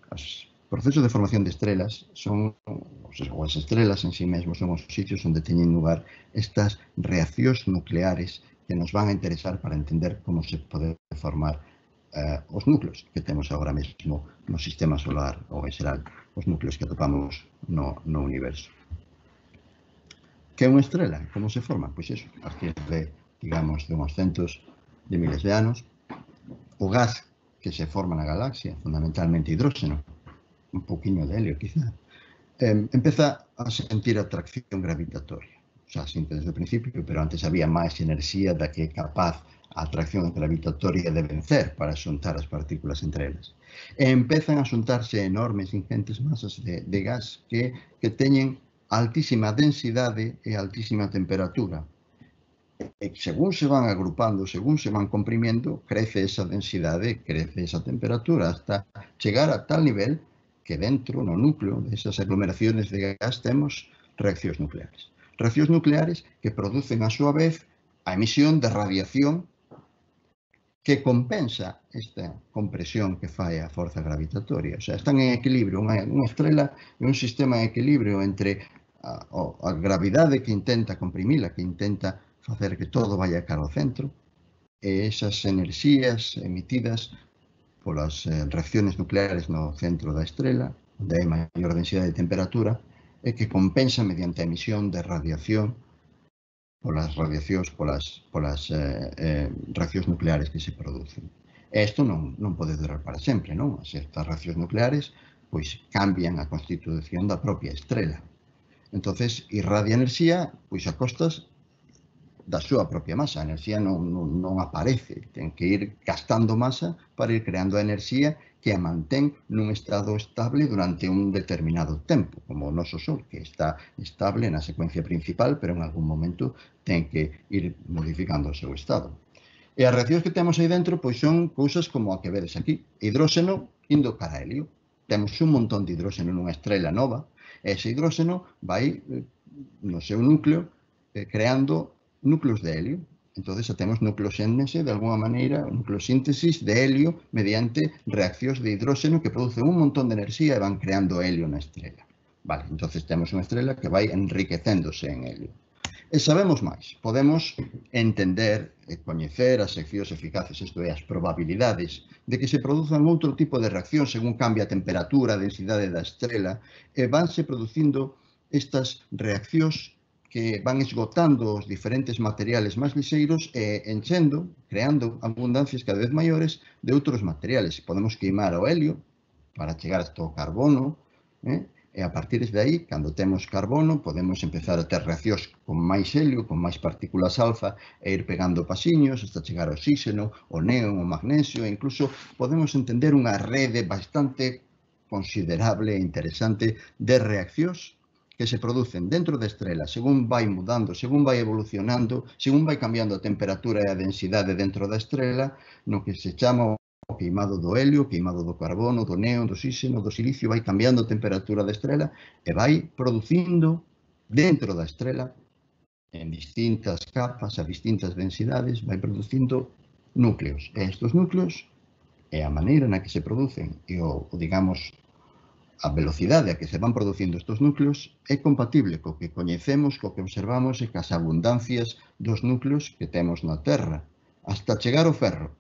Os procesos de formación de estrelas son, ou as estrelas en sí mesmos, son os sitios onde teñen lugar estas reaccións nucleares que nos van a interesar para entender como se pode formar eh, os núcleos que temos agora mesmo no sistema solar ou en xeral os núcleos que atopamos no, no universo. Que é unha estrela? Como se forma? Pois iso, a partir de, digamos, de uns centos de miles de anos, o gas que se forma na galaxia, fundamentalmente hidróxeno, un poquinho de helio, quizá, eh, empeza a sentir atracción gravitatoria. O sea, sinte desde o principio, pero antes había máis enerxía da que é capaz a atracción gravitatoria de vencer para xuntar as partículas entre elas. E empezan a xuntarse enormes, ingentes masas de, de gas que, que teñen altísima densidade e altísima temperatura. E según se van agrupando, según se van comprimiendo, crece esa densidade, crece esa temperatura, hasta chegar a tal nivel que dentro, no núcleo desas aglomeraciones de gas, temos reaccións nucleares. Reaccións nucleares que producen, a súa vez, a emisión de radiación que compensa esta compresión que fai a forza gravitatoria. O sea, están en equilibrio. Unha, unha estrela é un sistema en equilibrio entre a, a gravidade que intenta comprimila, que intenta facer que todo vaya cara ao centro, e esas enerxías emitidas polas eh, reacciones nucleares no centro da estrela, onde hai maior densidade de temperatura, e que compensa mediante a emisión de radiación polas radiacións, polas, polas eh, eh, reaccións nucleares que se producen. E isto non, non pode durar para sempre, non? As estas reaccións nucleares pois cambian a constitución da propia estrela. Entonces, irradia enerxía pois a costas da súa propia masa. A enerxía non, non, non aparece, ten que ir gastando masa para ir creando a enerxía que a mantén nun estado estable durante un determinado tempo, como o noso Sol, que está estable na secuencia principal, pero en algún momento ten que ir modificando o seu estado. E as reaccións que temos aí dentro pois son cousas como a que vedes aquí. Hidróxeno indo cara a helio. Temos un montón de hidróxeno nunha estrela nova, e ese hidróxeno vai no seu núcleo creando núcleos de helio. Entonces, temos nucleosíntese, de alguma maneira, nucleosíntesis de helio mediante reaccións de hidróxeno que producen un montón de enerxía e van creando helio na estrela. Vale, entonces temos unha estrela que vai enriquecéndose en helio. E sabemos máis. Podemos entender e coñecer as seccións eficaces, isto é, as probabilidades de que se produzan outro tipo de reacción según cambia a temperatura, a densidade da estrela, e vanse producindo estas reaccións que van esgotando os diferentes materiales máis lixeiros e enchendo, creando abundancias cada vez maiores de outros materiales. Podemos queimar o helio para chegar hasta o carbono, eh? E a partir de aí, cando temos carbono, podemos empezar a ter reaccións con máis helio, con máis partículas alfa, e ir pegando pasiños hasta chegar ao oxígeno, o neón, o magnesio, e incluso podemos entender unha rede bastante considerable e interesante de reaccións que se producen dentro da estrela según vai mudando, según vai evolucionando, según vai cambiando a temperatura e a densidade dentro da estrela, no que se chama o queimado do helio, o queimado do carbono, do neón, do oxígeno, do silicio, vai cambiando a temperatura da estrela e vai producindo dentro da estrela, en distintas capas, a distintas densidades, vai producindo núcleos. E estes núcleos, e a maneira na que se producen, e o, o digamos, a velocidade a que se van producindo estes núcleos é compatible co que coñecemos, co que observamos e cas abundancias dos núcleos que temos na Terra, hasta chegar ao ferro.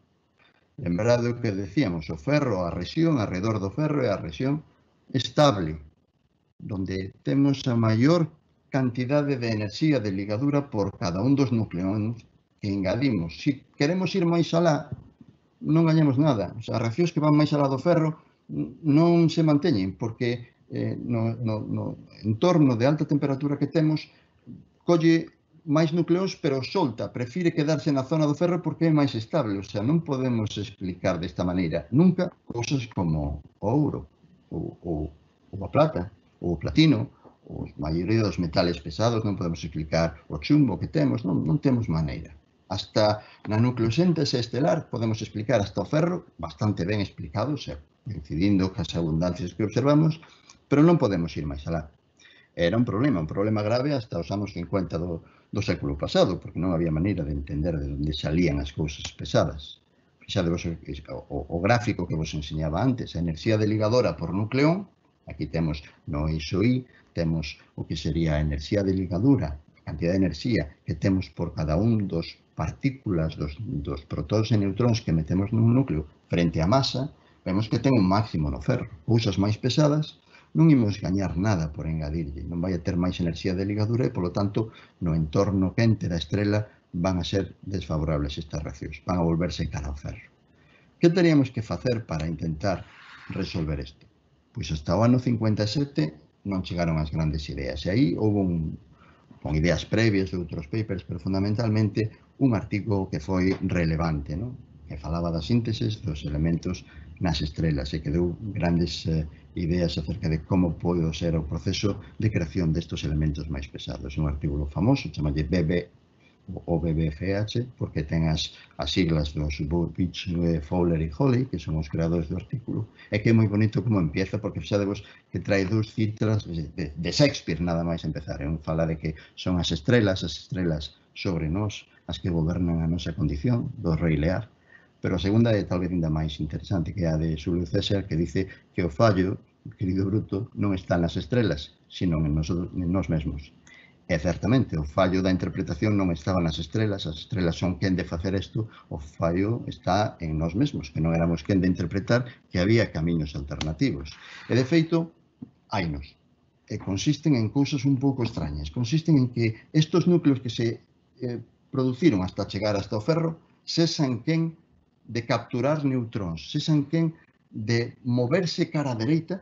Lembrade o que decíamos, o ferro, a rexión, alrededor do ferro é a rexión estable, donde temos a maior cantidade de enerxía de ligadura por cada un dos núcleos que engadimos. Se queremos ir máis alá, non gañamos nada. As reaccións que van máis alá do ferro non se manteñen, porque eh, no, no, no entorno de alta temperatura que temos, colle máis núcleos, pero solta, prefire quedarse na zona do ferro porque é máis estable. O sea, non podemos explicar desta maneira nunca cousas como o ouro, ou, ou, ou a plata, ou o platino, os maioría dos metales pesados, non podemos explicar o chumbo que temos, non, non temos maneira. Hasta na nucleosíntese estelar podemos explicar hasta o ferro, bastante ben explicado, xa, coincidindo cas abundancias que observamos, pero non podemos ir máis alá. Era un problema, un problema grave hasta os anos cincuenta do, do século pasado, porque non había maneira de entender de onde salían as cousas pesadas. Fixadevos o, o, o gráfico que vos enseñaba antes, a enerxía de ligadora por nucleón, aquí temos no eixo Y, temos o que sería a enerxía de ligadura, a cantidad de enerxía que temos por cada un dos partículas, dos, dos protóns e neutróns que metemos nun núcleo frente á masa, vemos que ten un máximo no ferro. Cousas máis pesadas non imos gañar nada por engadirlle, non vai a ter máis enerxía de ligadura e, polo tanto, no entorno quente da estrela van a ser desfavorables estas reaccións, van a volverse cara ao ferro. Que teríamos que facer para intentar resolver isto? Pois hasta o ano cincuenta e sete non chegaron as grandes ideas, e aí houve un, con ideas previas de outros papers, pero fundamentalmente un artigo que foi relevante, non? Que falaba das sínteses dos elementos nas estrelas e que deu grandes eh, ideas acerca de como pode ser o proceso de creación destes elementos máis pesados. Un artigo famoso, chamalle B B o B B F H, porque ten as, as siglas dos Burbidge, Fowler e Hawley, que son os creadores do artículo, e que é moi bonito como empieza, porque fixadevos que trae dous citras de, de Shakespeare, nada máis empezar. Un fala de que son as estrelas, as estrelas sobre nós, as que gobernan a nosa condición, do Rei Lear. Pero a segunda é talvez ainda máis interesante, que é a de Xulio César, que dice que o fallo, querido Bruto, non está nas estrelas, sino en nós, en nós mesmos. E certamente, o fallo da interpretación non estaba nas estrelas, as estrelas son quen de facer isto, o fallo está en nós mesmos, que non éramos quen de interpretar que había camiños alternativos. E de feito, hainos. E consisten en cousas un pouco extrañas. Consisten en que estos núcleos que se eh, produciron hasta chegar hasta o ferro, sesan quen de capturar neutróns, sesan quen de moverse cara a dereita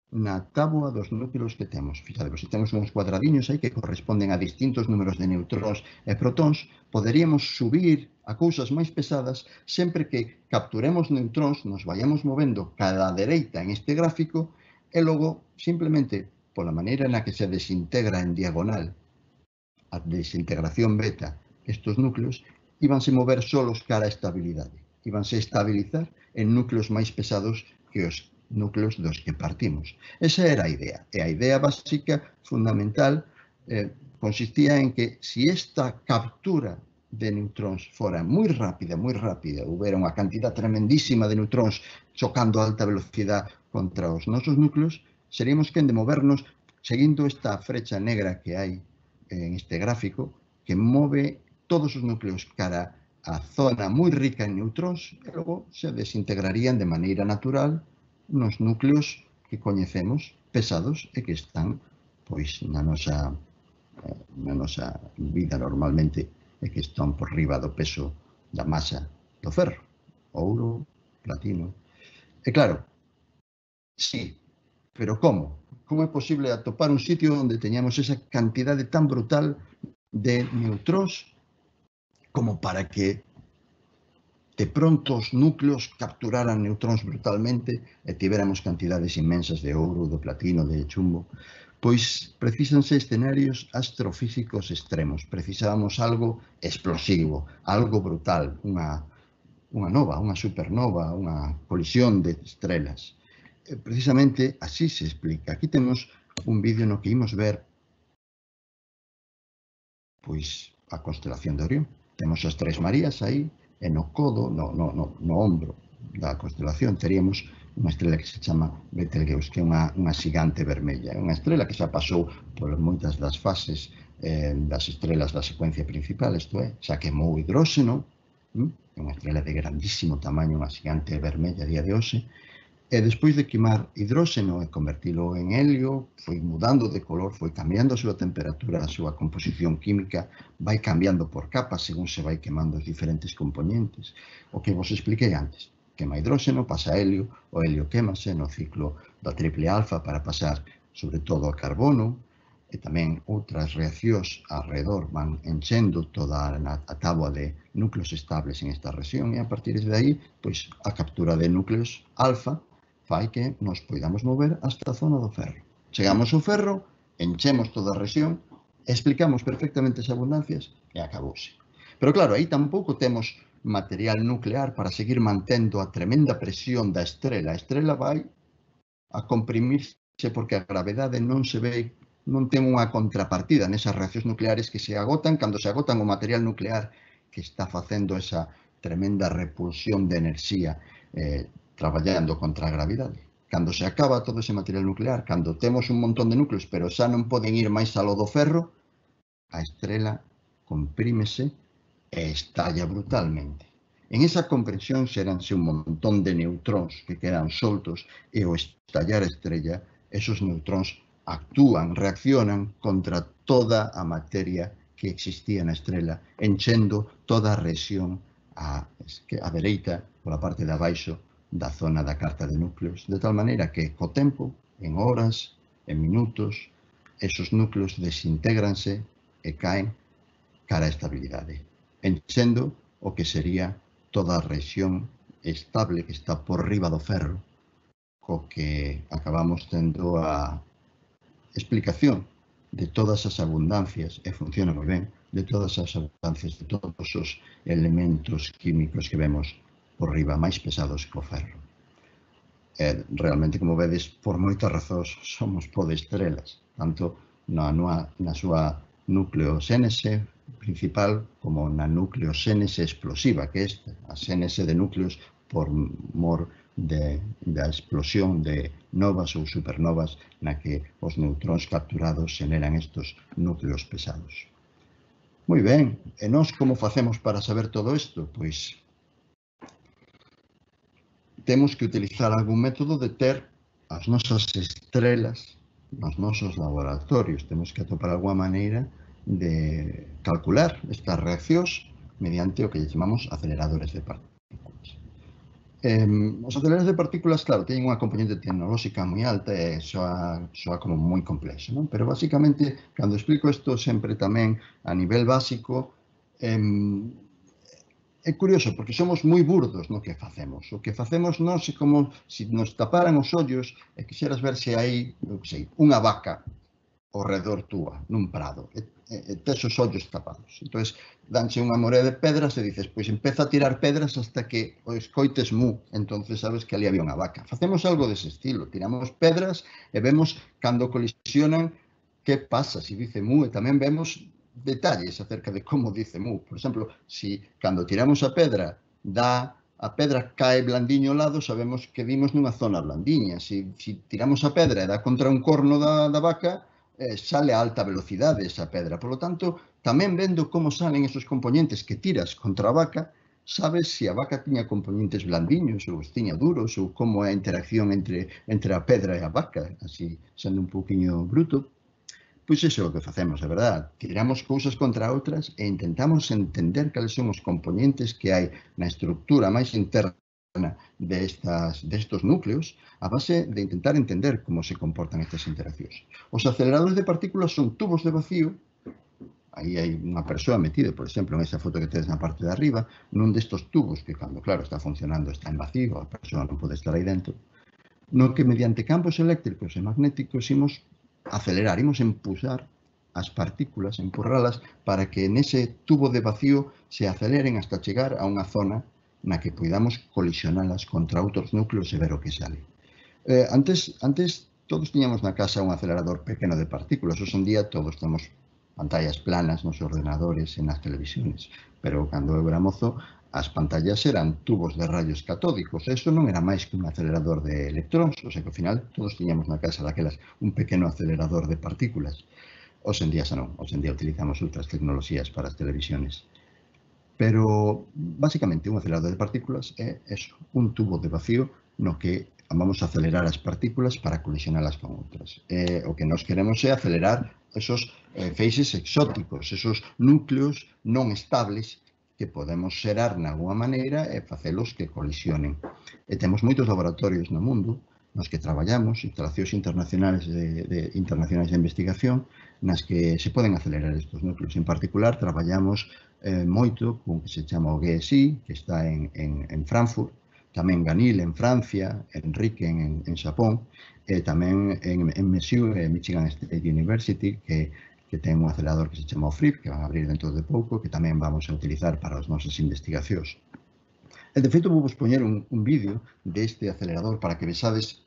na táboa dos núcleos que temos. Fixadevos, se temos uns cuadradiños aí que corresponden a distintos números de neutróns e protóns, poderíamos subir a cousas máis pesadas sempre que capturemos neutróns, nos vayamos movendo cada dereita en este gráfico e logo, simplemente, pola maneira na que se desintegra en diagonal a desintegración beta estos núcleos, íbanse mover solos cara a estabilidade. Íbanse estabilizar en núcleos máis pesados que os núcleos dos que partimos. Esa era a idea. E a idea básica, fundamental, eh, consistía en que si esta captura de neutróns fora moi rápida, moi rápida, houbera unha cantidad tremendísima de neutróns chocando a alta velocidade contra os nosos núcleos, seríamos quen de movernos seguindo esta frecha negra que hai en este gráfico, que move todos os núcleos cara a zona moi rica en neutróns e logo se desintegrarían de maneira natural nos núcleos que coñecemos pesados e que están pois na nosa na nosa vida normalmente e que están por riba do peso da masa do ferro, ouro, platino. E claro, sí, pero como? Como é posible atopar un sitio onde teñamos esa cantidade tan brutal de neutróns como para que de pronto os núcleos capturaran neutróns brutalmente e tivéramos cantidades inmensas de ouro, de platino, de chumbo? Pois precisanse escenarios astrofísicos extremos. Precisábamos algo explosivo, algo brutal, unha, unha nova, unha supernova, unha colisión de estrelas. E precisamente así se explica. Aquí temos un vídeo no que imos ver pois a constelación de Orión. Temos as Tres Marías aí, e no codo, no, no, no, no ombro da constelación, teríamos unha estrela que se chama Betelgeuse, que é unha, unha xigante vermella. É unha estrela que xa pasou por moitas das fases eh, das estrelas da secuencia principal, isto é, xa quemou hidróxeno, hm? É unha estrela de grandísimo tamaño, unha xigante vermella a día de hoxe, e despois de quemar hidróxeno e convertilo en helio, foi mudando de color, foi cambiando a súa temperatura, a súa composición química, vai cambiando por capas según se vai quemando os diferentes componentes. O que vos expliquei antes, quema hidróxeno, pasa a helio, o helio quémase no ciclo da triple alfa para pasar sobre todo a carbono, e tamén outras reaccións alrededor van enchendo toda a táboa de núcleos estables en esta rexión, e a partir de aí, pois, a captura de núcleos alfa fai que nos poidamos mover hasta a zona do ferro. Chegamos ao ferro enchemos toda a rexión, explicamos perfectamente as abundancias e acabouse. Pero claro, aí tampouco temos material nuclear para seguir mantendo a tremenda presión da estrela. A estrela vai a comprimirse porque a gravedade non se ve, non ten unha contrapartida nesas reaccións nucleares que se agotan cando se agotan o material nuclear que está facendo esa tremenda repulsión de enerxía eh, traballando contra a gravidade. Cando se acaba todo ese material nuclear, cando temos un montón de núcleos, pero xa non poden ir máis aló do ferro, a estrela comprímese e estalla brutalmente. En esa compresión xeranse un montón de neutróns que quedan soltos e ao estallar a estrella, esos neutróns actúan, reaccionan contra toda a materia que existía na estrela, enchendo toda a rexión a, a dereita, pola parte de abaixo da zona da carta de núcleos, de tal maneira que, co tempo, en horas, en minutos, esos núcleos desintégranse e caen cara a estabilidade, enchendo o que sería toda a rexión estable que está por riba do ferro, co que acabamos tendo a explicación de todas as abundancias, e funciona moi ben, de todas as abundancias de todos os elementos químicos que vemos por riba, máis pesados que o ferro. E, realmente, como vedes, por moitas razóns somos podestrelas, tanto na, na, na súa nucleoxénese principal como na nucleoxénese explosiva, que é esta, a xénese de núcleos por mor de, da explosión de novas ou supernovas na que os neutróns capturados xeneran estos núcleos pesados. Moi ben, e nós como facemos para saber todo isto? Pois temos que utilizar algún método de ter as nosas estrelas nos nosos laboratorios. Temos que atopar alguma maneira de calcular estas reaccións mediante o que chamamos aceleradores de partículas. Eh, os aceleradores de partículas, claro, teñen unha componente tecnolóxica moi alta e soa, soa como moi complexo, non? Pero, basicamente, cando explico isto sempre tamén a nivel básico, eh, é curioso, porque somos moi burdos no que facemos. O que facemos nós é como se nos taparan os ollos e quixeras ver se hai, non sei, unha vaca ao redor túa, nun prado, e, e, e tes os ollos tapados. Entón, danche unha morea de pedras e dices, pois empeza a tirar pedras hasta que o escoites mu, entón sabes que ali había unha vaca. Facemos algo dese estilo, tiramos pedras e vemos cando colisionan que pasa, se dice mu, e tamén vemos detalles acerca de como dice mu. Por exemplo, si cando tiramos a pedra dá a pedra cae blandiño ao lado, sabemos que dimos nunha zona blandiña. Si, si tiramos a pedra e dá contra un corno da, da vaca, eh, sale a alta velocidade esa pedra. Por lo tanto, tamén vendo como salen esos componentes que tiras contra a vaca, sabes se a vaca tiña componentes blandiños ou os tiña duros, ou como é a interacción entre, entre a pedra e a vaca, así sendo un pouquiño bruto. Pois iso é o que facemos, é verdade. Tiramos cousas contra outras e intentamos entender cales son os componentes que hai na estructura máis interna destas, destos núcleos a base de intentar entender como se comportan estas interaccións. Os aceleradores de partículas son tubos de vacío, aí hai unha persoa metida, por exemplo, en esa foto que tedes na parte de arriba, nun destos tubos que, cando, claro, está funcionando, está en vacío, a persoa non pode estar aí dentro, no que mediante campos eléctricos e magnéticos imos acelerar, imos empuxar as partículas, empurralas para que nese tubo de vacío se aceleren hasta chegar a unha zona na que poidamos colisionalas contra outros núcleos e ver o que sale. Eh, antes, antes todos tiñamos na casa un acelerador pequeno de partículas, hoxe en día todos temos pantallas planas nos ordenadores e nas televisións, pero cando eu era mozo as pantallas eran tubos de rayos catódicos, e iso non era máis que un acelerador de electróns, o sea que ao final todos tiñamos na casa daquelas un pequeno acelerador de partículas. Hoxe en día xa non, hoxe en día utilizamos outras tecnoloxías para as televisións. Pero, basicamente, un acelerador de partículas é eso, un tubo de vacío no que vamos a acelerar as partículas para colisionalas con outras. E o que nós queremos é acelerar esos eh, feixes exóticos, esos núcleos non estables que podemos xerar na alguma maneira e facelos que colisionen. E temos moitos laboratorios no mundo nos que traballamos, instalacións internacionales de, de, internacionais de investigación, nas que se poden acelerar estes núcleos. En particular, traballamos eh, moito con que se chama o G S I, que está en, en, en Frankfurt, tamén Ganil en Francia, Enrique en, en Xapón, e tamén en, en M S U, Michigan State University, que, que ten un acelerador que se chama o F R I P, que van a abrir dentro de pouco, que tamén vamos a utilizar para as nosas investigacións. E, de feito, vou vos poñer un, un vídeo deste acelerador para que vexades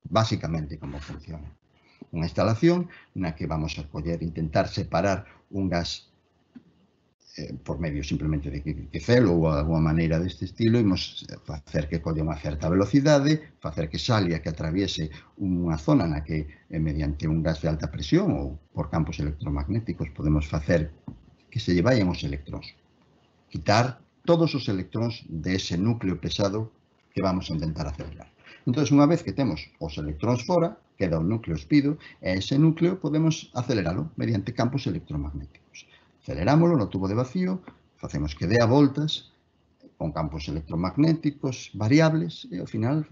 basicamente como funciona. Unha instalación na que vamos a coller, intentar separar un gas Eh, por medio simplemente de que, que celo ou alguma maneira deste estilo, imos facer que colle unha certa velocidade, facer que salia, que atraviese unha zona na que eh, mediante un gas de alta presión ou por campos electromagnéticos podemos facer que se lle vayan os electróns. Quitar todos os electróns de ese núcleo pesado que vamos a intentar acelerar. Entón, unha vez que temos os electróns fora, queda o núcleo espido, e ese núcleo podemos aceleralo mediante campos electromagnéticos. Acelerámoslo no tubo de vacío, facemos que dé a voltas con campos electromagnéticos variables e, ao final,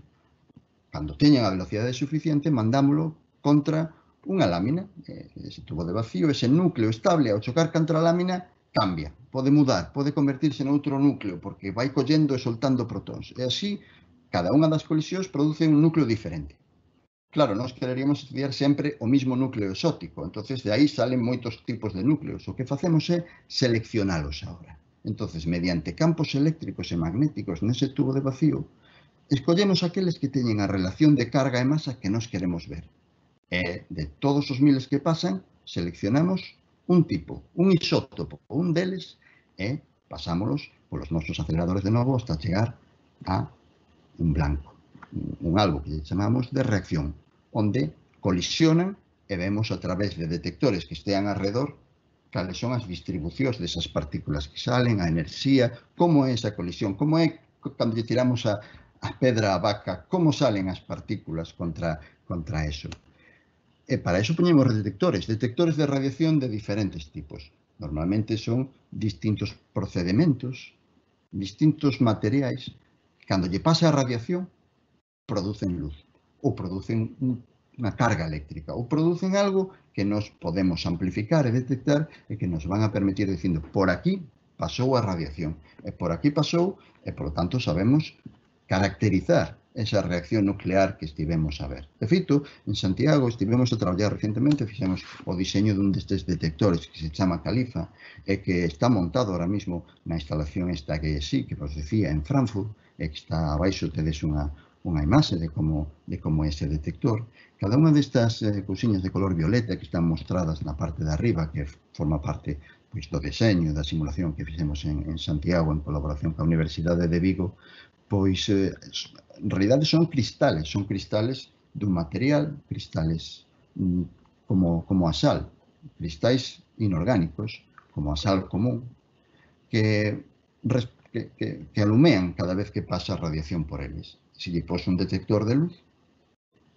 cando teñan a velocidade suficiente, mandámoslo contra unha lámina. Ese tubo de vacío, ese núcleo estable, ao chocar contra a lámina, cambia, pode mudar, pode convertirse noutro núcleo, porque vai collendo e soltando protóns. E así, cada unha das colisións produce un núcleo diferente. Claro, nós quereríamos estudiar sempre o mismo núcleo exótico, entonces de aí salen moitos tipos de núcleos. O que facemos é seleccionalos agora. Entonces, mediante campos eléctricos e magnéticos nese tubo de vacío, escollemos aqueles que teñen a relación de carga e masa que nós queremos ver. E de todos os miles que pasan, seleccionamos un tipo, un isótopo, un deles, e pasámolos polos nosos aceleradores de novo hasta chegar a un blanco. Un algo que chamamos de reacción, onde colisionan e vemos a través de detectores que estean alrededor cales son as distribucións desas partículas que salen, a enerxía, como é esa colisión, como é cando lle tiramos a, a pedra á vaca, como salen as partículas contra, contra eso. E para eso poñemos detectores, detectores de radiación de diferentes tipos. Normalmente son distintos procedementos, distintos materiais. Cando lle pasa a radiación, producen luz, ou producen unha carga eléctrica, ou producen algo que nos podemos amplificar e detectar e que nos van a permitir dicindo, por aquí pasou a radiación, e por aquí pasou, e, por lo tanto, sabemos caracterizar esa reacción nuclear que estivemos a ver. De feito, en Santiago estivemos a traballar recentemente, fixemos o diseño dun destes detectores que se chama Califa e que está montado ahora mismo na instalación esta que sí, que vos decía, en Frankfurt, e que está abaixo tedes unha unha imaxe de como, de como é ese detector. Cada unha destas eh, cousiñas de color violeta que están mostradas na parte de arriba, que forma parte pois, do deseño, da simulación que fixemos en, en Santiago en colaboración coa Universidade de Vigo, pois eh, en realidade son cristales, son cristales dun material, cristales mm, como, como a sal, cristais inorgánicos, como a sal común, que, que, que, que alumean cada vez que pasa a radiación por eles. Se lle pos un detector de luz,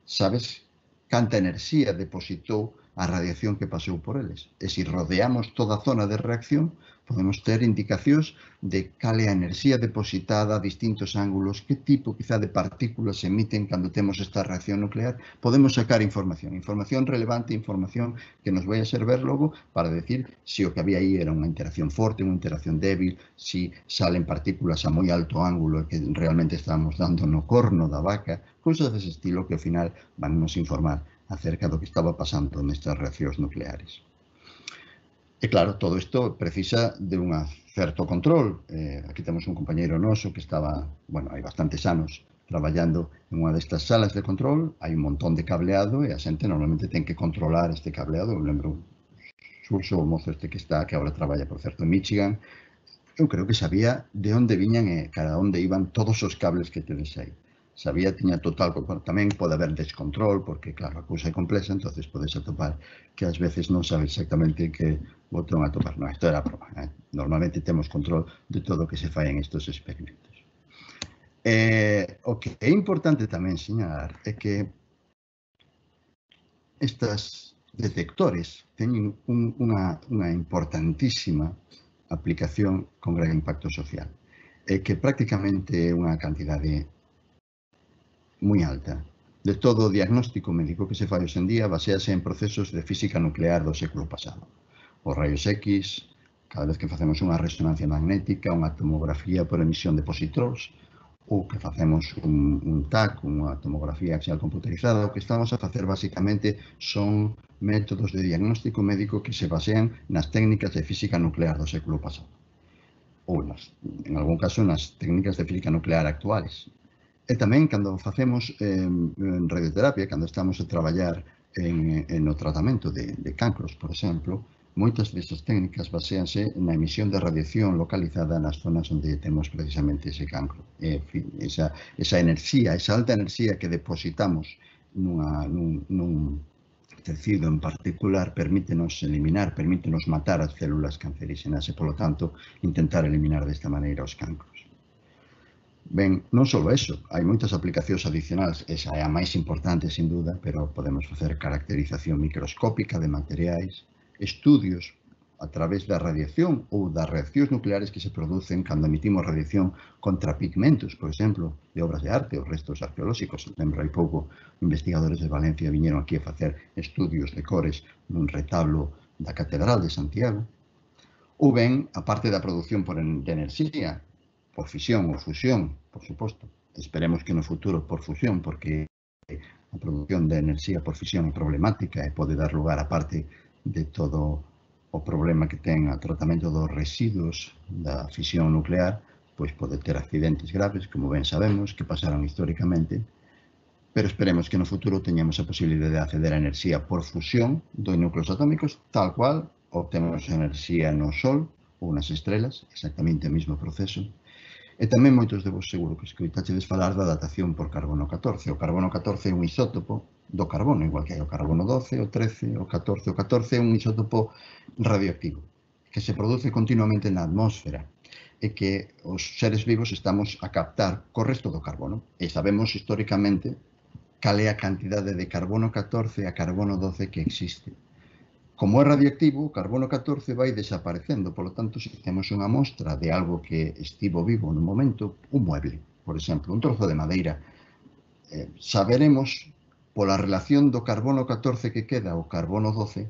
sabes canta enerxía depositou a radiación que pasou por eles. E se rodeamos toda a zona de reacción, podemos ter indicacións de cal é a enerxía depositada a distintos ángulos, que tipo quizá de partículas se emiten cando temos esta reacción nuclear. Podemos sacar información, información relevante, información que nos vai a servir logo para decir se o que había aí era unha interacción forte, unha interacción débil, se salen partículas a moi alto ángulo e que realmente estamos dando no corno da vaca, cousas dese estilo que ao final van nos informar acerca do que estaba pasando nestas reaccións nucleares. E claro, todo isto precisa de un certo control. Eh, aquí temos un compañeiro noso que estaba, bueno, hai bastantes anos traballando en unha destas salas de control, hai un montón de cableado e a xente normalmente ten que controlar este cableado. Eu lembro Xurxo, o mozo este que está, que agora traballa, por certo, en Michigan, eu creo que sabía de onde viñan e cada onde iban todos os cables que tedes aí. Sabía, tiña total, tamén pode haber descontrol, porque, claro, a cousa é complexa, entonces podes atopar que ás veces non sabes exactamente que botón atopar. Non, isto era a broma. Eh? Normalmente temos control de todo o que se fai en estos experimentos. Eh, o que é importante tamén señalar é que estas detectores teñen un, unha, unha importantísima aplicación con gran impacto social. É que prácticamente unha cantidade moi alta de todo o diagnóstico médico que se fai hoxe en día basease en procesos de física nuclear do século pasado. Os rayos X, cada vez que facemos unha resonancia magnética, unha tomografía por emisión de positróns, ou que facemos un, un T A C, unha tomografía axial computerizada. O que estamos a facer basicamente son métodos de diagnóstico médico que se basean nas técnicas de física nuclear do século pasado, ou nas, en algún caso nas técnicas de física nuclear actuales. E tamén, cando facemos eh, radioterapia, cando estamos a traballar en, en o tratamento de, de cancros, por exemplo, moitas desas técnicas baseanse na emisión de radiación localizada nas zonas onde temos precisamente ese cancro. E, en fin, esa, esa enerxía, esa alta enerxía que depositamos nunha, nun, nun tecido en particular permítenos eliminar, permítenos matar as células cancerígenas e, polo tanto, intentar eliminar desta maneira os cancros. Ben, non só eso, hai moitas aplicacións adicionais, esa é a máis importante, sin duda, pero podemos facer caracterización microscópica de materiais, estudios a través da radiación ou das reaccións nucleares que se producen cando emitimos radiación contra pigmentos, por exemplo, de obras de arte ou restos arqueolóxicos. Lembro hai pouco, investigadores de Valencia viñeron aquí a facer estudios de cores nun retablo da Catedral de Santiago. Ou ben, a parte da produción por en, de enerxía, por fisión ou fusión, por suposto. Esperemos que no futuro por fusión, porque a produción de enerxía por fisión é problemática e pode dar lugar a parte de todo o problema que ten o tratamento dos residuos da fisión nuclear, pois pode ter accidentes graves, como ben sabemos, que pasaron históricamente, pero esperemos que no futuro teñamos a posibilidade de acceder a enerxía por fusión dos núcleos atómicos, tal cual obtemos enerxía no Sol ou nas estrelas, exactamente o mesmo proceso. E tamén moitos de vos seguro que escoitachedes falar da datación por carbono catorce. O carbono catorce é un isótopo do carbono, igual que hai o carbono doce, o trece, o catorce. O catorce é un isótopo radioactivo que se produce continuamente na atmósfera e que os seres vivos estamos a captar co resto do carbono. E sabemos históricamente cal é a cantidade de carbono catorce a carbono doce que existe. Como é radioactivo, o carbono catorce vai desaparecendo, polo tanto, se temos unha mostra de algo que estivo vivo no momento, un mueble, por exemplo, un trozo de madeira, eh, saberemos, pola relación do carbono catorce que queda ao carbono doce,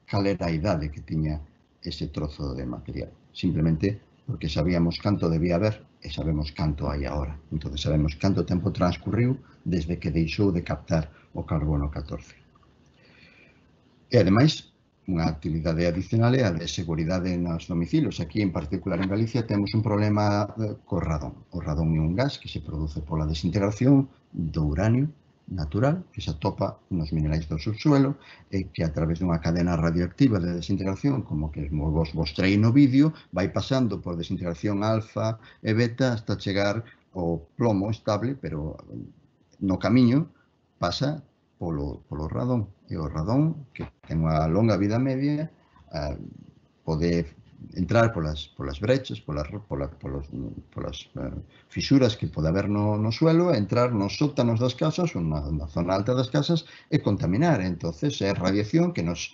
cal era a idade que tiña ese trozo de material. Simplemente porque sabíamos canto debía haber e sabemos canto hai agora. Entón, sabemos canto tempo transcurriu desde que deixou de captar o carbono catorce. E, ademais, unha actividade adicional é a de seguridade nos domicilios. Aquí, en particular en Galicia, temos un problema co radón. O radón é un gas que se produce pola desintegración do uranio natural, que se atopa nos minerais do subsuelo e que a través dunha cadena radioactiva de desintegración, como que vos mostrei no vídeo, vai pasando por desintegración alfa e beta hasta chegar ao plomo estable, pero no camiño pasa polo, polo radón. E o radón, que ten unha longa vida media, eh, pode entrar polas, polas brechas, polas, polas, polas, polas eh, fisuras que pode haber no, no suelo, entrar nos sótanos das casas ou na, na zona alta das casas e contaminar. Entonces é radiación que nos,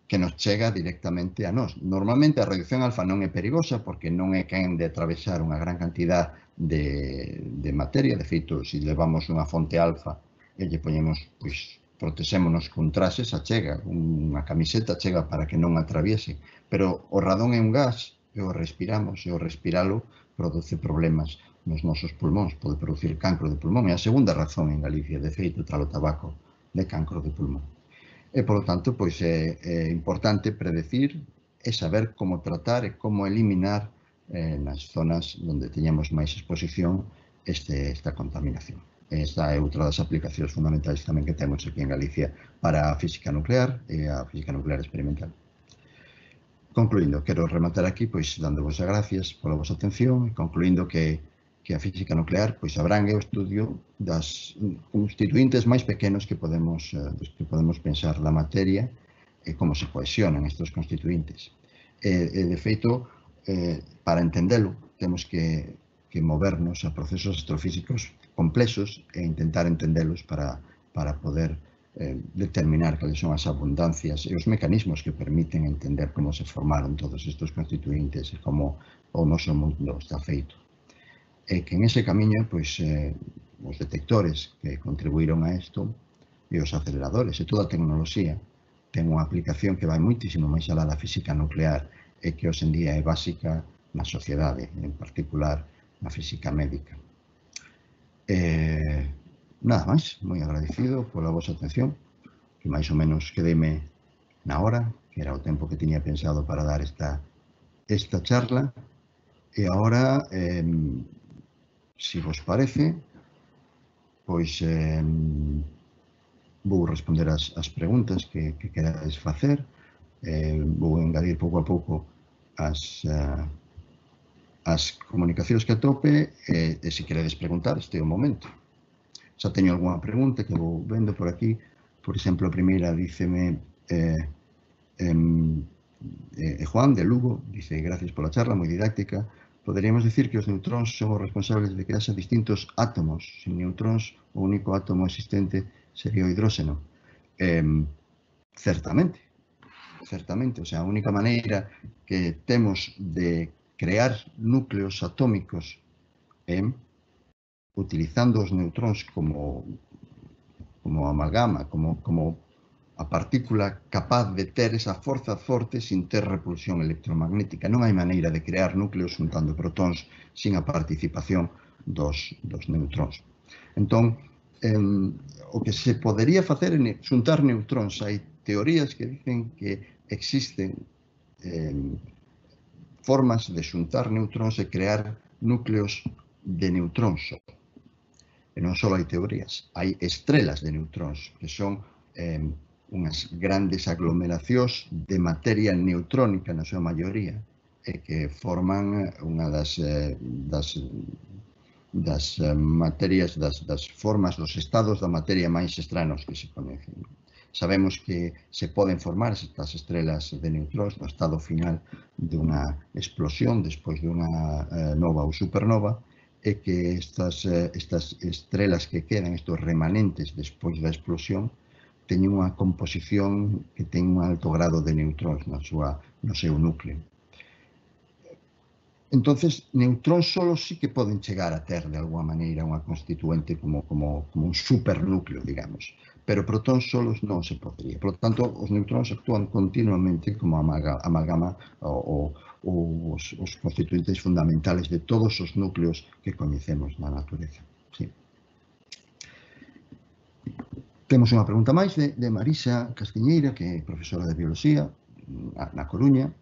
que nos chega directamente a nós. Normalmente a radiación alfa non é perigosa porque non é quen de atravesar unha gran cantidad de, de materia. De feito, se levamos unha fonte alfa e lle poñemos, pois, protexémonos con traxes, a chega, unha camiseta chega para que non atraviese, pero o radón é un gas e o respiramos, e o respiralo produce problemas nos nosos pulmóns, pode producir cancro de pulmón, é a segunda razón en Galicia, de feito, tras o tabaco, de cancro de pulmón. E, polo tanto, pois é, é importante predecir e saber como tratar e como eliminar eh, nas zonas onde teñamos máis exposición este, esta contaminación. Esta é outra das aplicacións fundamentais tamén que temos aquí en Galicia para a física nuclear e a física nuclear experimental. Concluindo, quero rematar aquí pois dándovos as gracias pola vosa atención e concluindo que, que a física nuclear pois abrangue o estudio das constituintes máis pequenos que podemos, dos que podemos pensar da materia e como se cohesionan estes constituintes. E, e de feito, eh, para entendelo, temos que, que movernos a procesos astrofísicos complexos e intentar entendelos para, para poder eh, determinar cales son as abundancias e os mecanismos que permiten entender como se formaron todos estes constituintes e como o noso mundo está feito. E que en ese camiño, pois, eh, os detectores que contribuíron a isto e os aceleradores e toda a tecnoloxía ten unha aplicación que vai moitísimo máis alá da física nuclear e que hoxe en día é básica na sociedade, en particular na física médica. Eh, nada máis, moi agradecido pola vosa atención, que máis ou menos quedeme na hora, que era o tempo que tiña pensado para dar esta, esta charla. E agora, eh, se vos parece, pois eh, vou responder as, as preguntas que, que querades facer. Eh, vou engadir pouco a pouco as, uh, as comunicacións que atope e, e se queredes preguntar, este é o momento. Xa teño algunha pregunta que vou vendo por aquí. Por exemplo, a primeira díceme eh, eh, Juan de Lugo, dice: gracias pola charla, moi didáctica. Poderíamos decir que os neutróns son os responsables de que haxa distintos átomos. Sin neutróns, o único átomo existente sería o hidróxeno. Eh, certamente, certamente. O sea, a única maneira que temos de crear núcleos atómicos é eh, utilizando os neutróns como, como amalgama, como, como a partícula capaz de ter esa forza forte sin ter repulsión electromagnética. Non hai maneira de crear núcleos juntando protóns sin a participación dos, dos neutróns. Entón, eh, o que se podería facer é xuntar neutróns. Hai teorías que dicen que existen eh, formas de xuntar neutróns e crear núcleos de neutróns. E non só hai teorías, hai estrelas de neutróns, que son eh, unhas grandes aglomeracións de materia neutrónica na súa maioría, e que forman unha das, eh, das, das eh, materias, das, das formas, dos estados da materia máis extraños que se coñecen. Sabemos que se poden formar estas estrelas de neutróns no estado final dunha explosión despois dunha eh, nova ou supernova, e que estas, estas estrelas que quedan, estos remanentes despois da explosión, teñen unha composición que ten un alto grado de neutróns na súa, no seu núcleo. Entonces, neutróns solo sí que poden chegar a ter, de alguma maneira, unha constituente como, como, como un supernúcleo, digamos. Pero protóns solos non se podría. Por lo tanto, os neutróns actúan continuamente como amalgama ou, ou os, os constituintes fundamentales de todos os núcleos que coñecemos na natureza. Sí. Temos unha pregunta máis de, de Marisa Castiñeira, que é profesora de Biología na, na Coruña,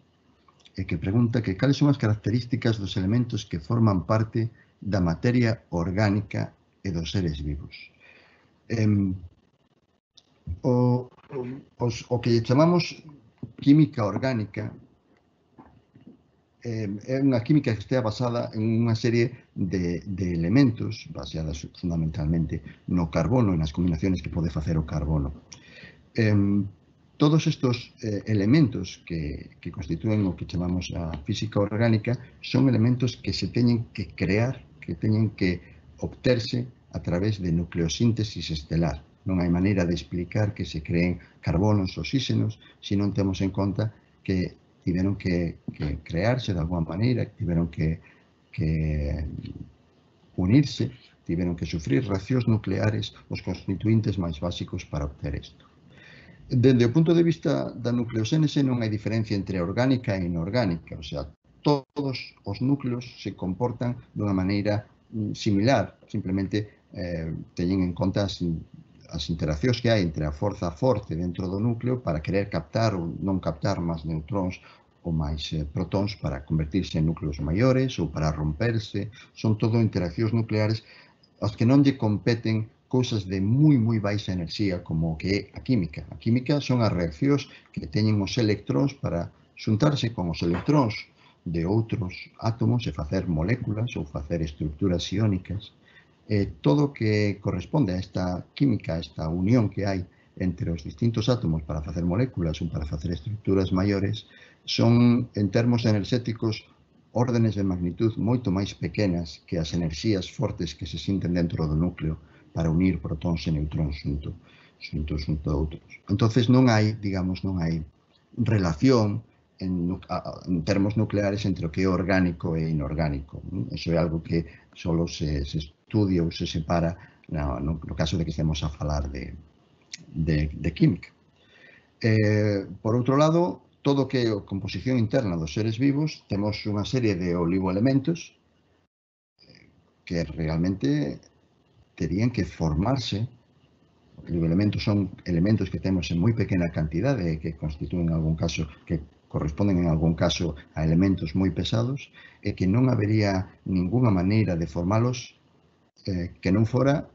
e que pregunta que cales son as características dos elementos que forman parte da materia orgánica e dos seres vivos. Eh, o, os, o que chamamos química orgánica eh, é unha química que estea basada en unha serie de, de elementos baseadas fundamentalmente no carbono e nas combinaciones que pode facer o carbono. Eh, todos estes eh, elementos que, que constitúen o que chamamos a física orgánica son elementos que se teñen que crear, que teñen que obterse a través de nucleosíntesis estelar. Non hai maneira de explicar que se creen carbonos, oxígenos, se non temos en conta que tiveron que, que crearse de alguma maneira, tiveron que, que unirse, tiveron que sufrir reaccións nucleares os constituintes máis básicos para obter isto. Dende o punto de vista da nucleoxénese non hai diferencia entre orgánica e inorgánica, o sea, todos os núcleos se comportan dunha maneira similar, simplemente eh, teñen en conta as, as interaccións que hai entre a forza forte dentro do núcleo para querer captar ou non captar máis neutróns ou máis eh, protóns para convertirse en núcleos maiores ou para romperse. Son todo interaccións nucleares as que non lle competen cousas de moi, moi baixa enerxía como que é a química. A química son as reaccións que teñen os electróns para xuntarse con os electróns de outros átomos e facer moléculas ou facer estructuras iónicas. E todo o que corresponde a esta química, a esta unión que hai entre os distintos átomos para facer moléculas ou para facer estructuras maiores, son, en termos enerxéticos, órdenes de magnitud moito máis pequenas que as enerxías fortes que se sinten dentro do núcleo para unir protóns e neutróns xunto, xunto, xunto a outros. Entonces non hai, digamos, non hai relación en, en termos nucleares entre o que é orgánico e inorgánico. Eso é algo que solo se, se estudia ou se separa no, no, no caso de que estemos a falar de, de, de química. Eh, por outro lado, todo o que é a composición interna dos seres vivos, temos unha serie de oligoelementos que realmente terían que formarse. Os elementos son elementos que temos en moi pequena cantidade, que constitúen en algún caso, que corresponden en algún caso a elementos moi pesados, e que non habería ninguna maneira de formalos eh, que non fora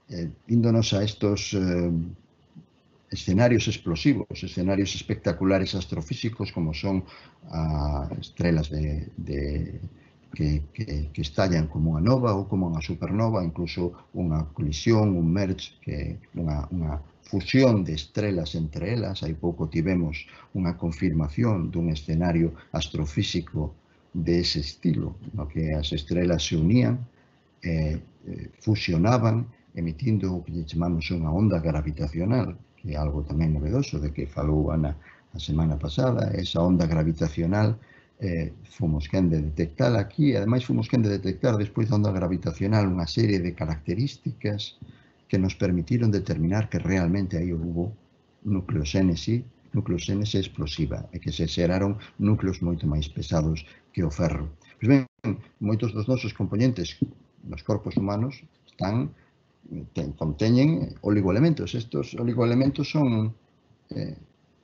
eh, índonos a estos eh, escenarios explosivos, escenarios espectaculares astrofísicos como son a estrelas de, de, que, que, que estallan como unha nova ou como unha supernova, incluso unha colisión, un merge, que unha, unha fusión de estrelas entre elas. Hai pouco tivemos unha confirmación dun escenario astrofísico de ese estilo, no que as estrelas se unían, eh, fusionaban, emitindo o que chamamos unha onda gravitacional, que é algo tamén novedoso, de que falou Ana a semana pasada. Esa onda gravitacional eh, fomos quen de detectala aquí, e ademais fomos quen de detectar despois da onda gravitacional unha serie de características que nos permitiron determinar que realmente aí houve nucleoxénese, nucleoxénese explosiva, e que se xeraron núcleos moito máis pesados que o ferro. Pois ben, moitos dos nosos componentes nos corpos humanos están ten, conteñen oligoelementos. Estos oligoelementos son eh,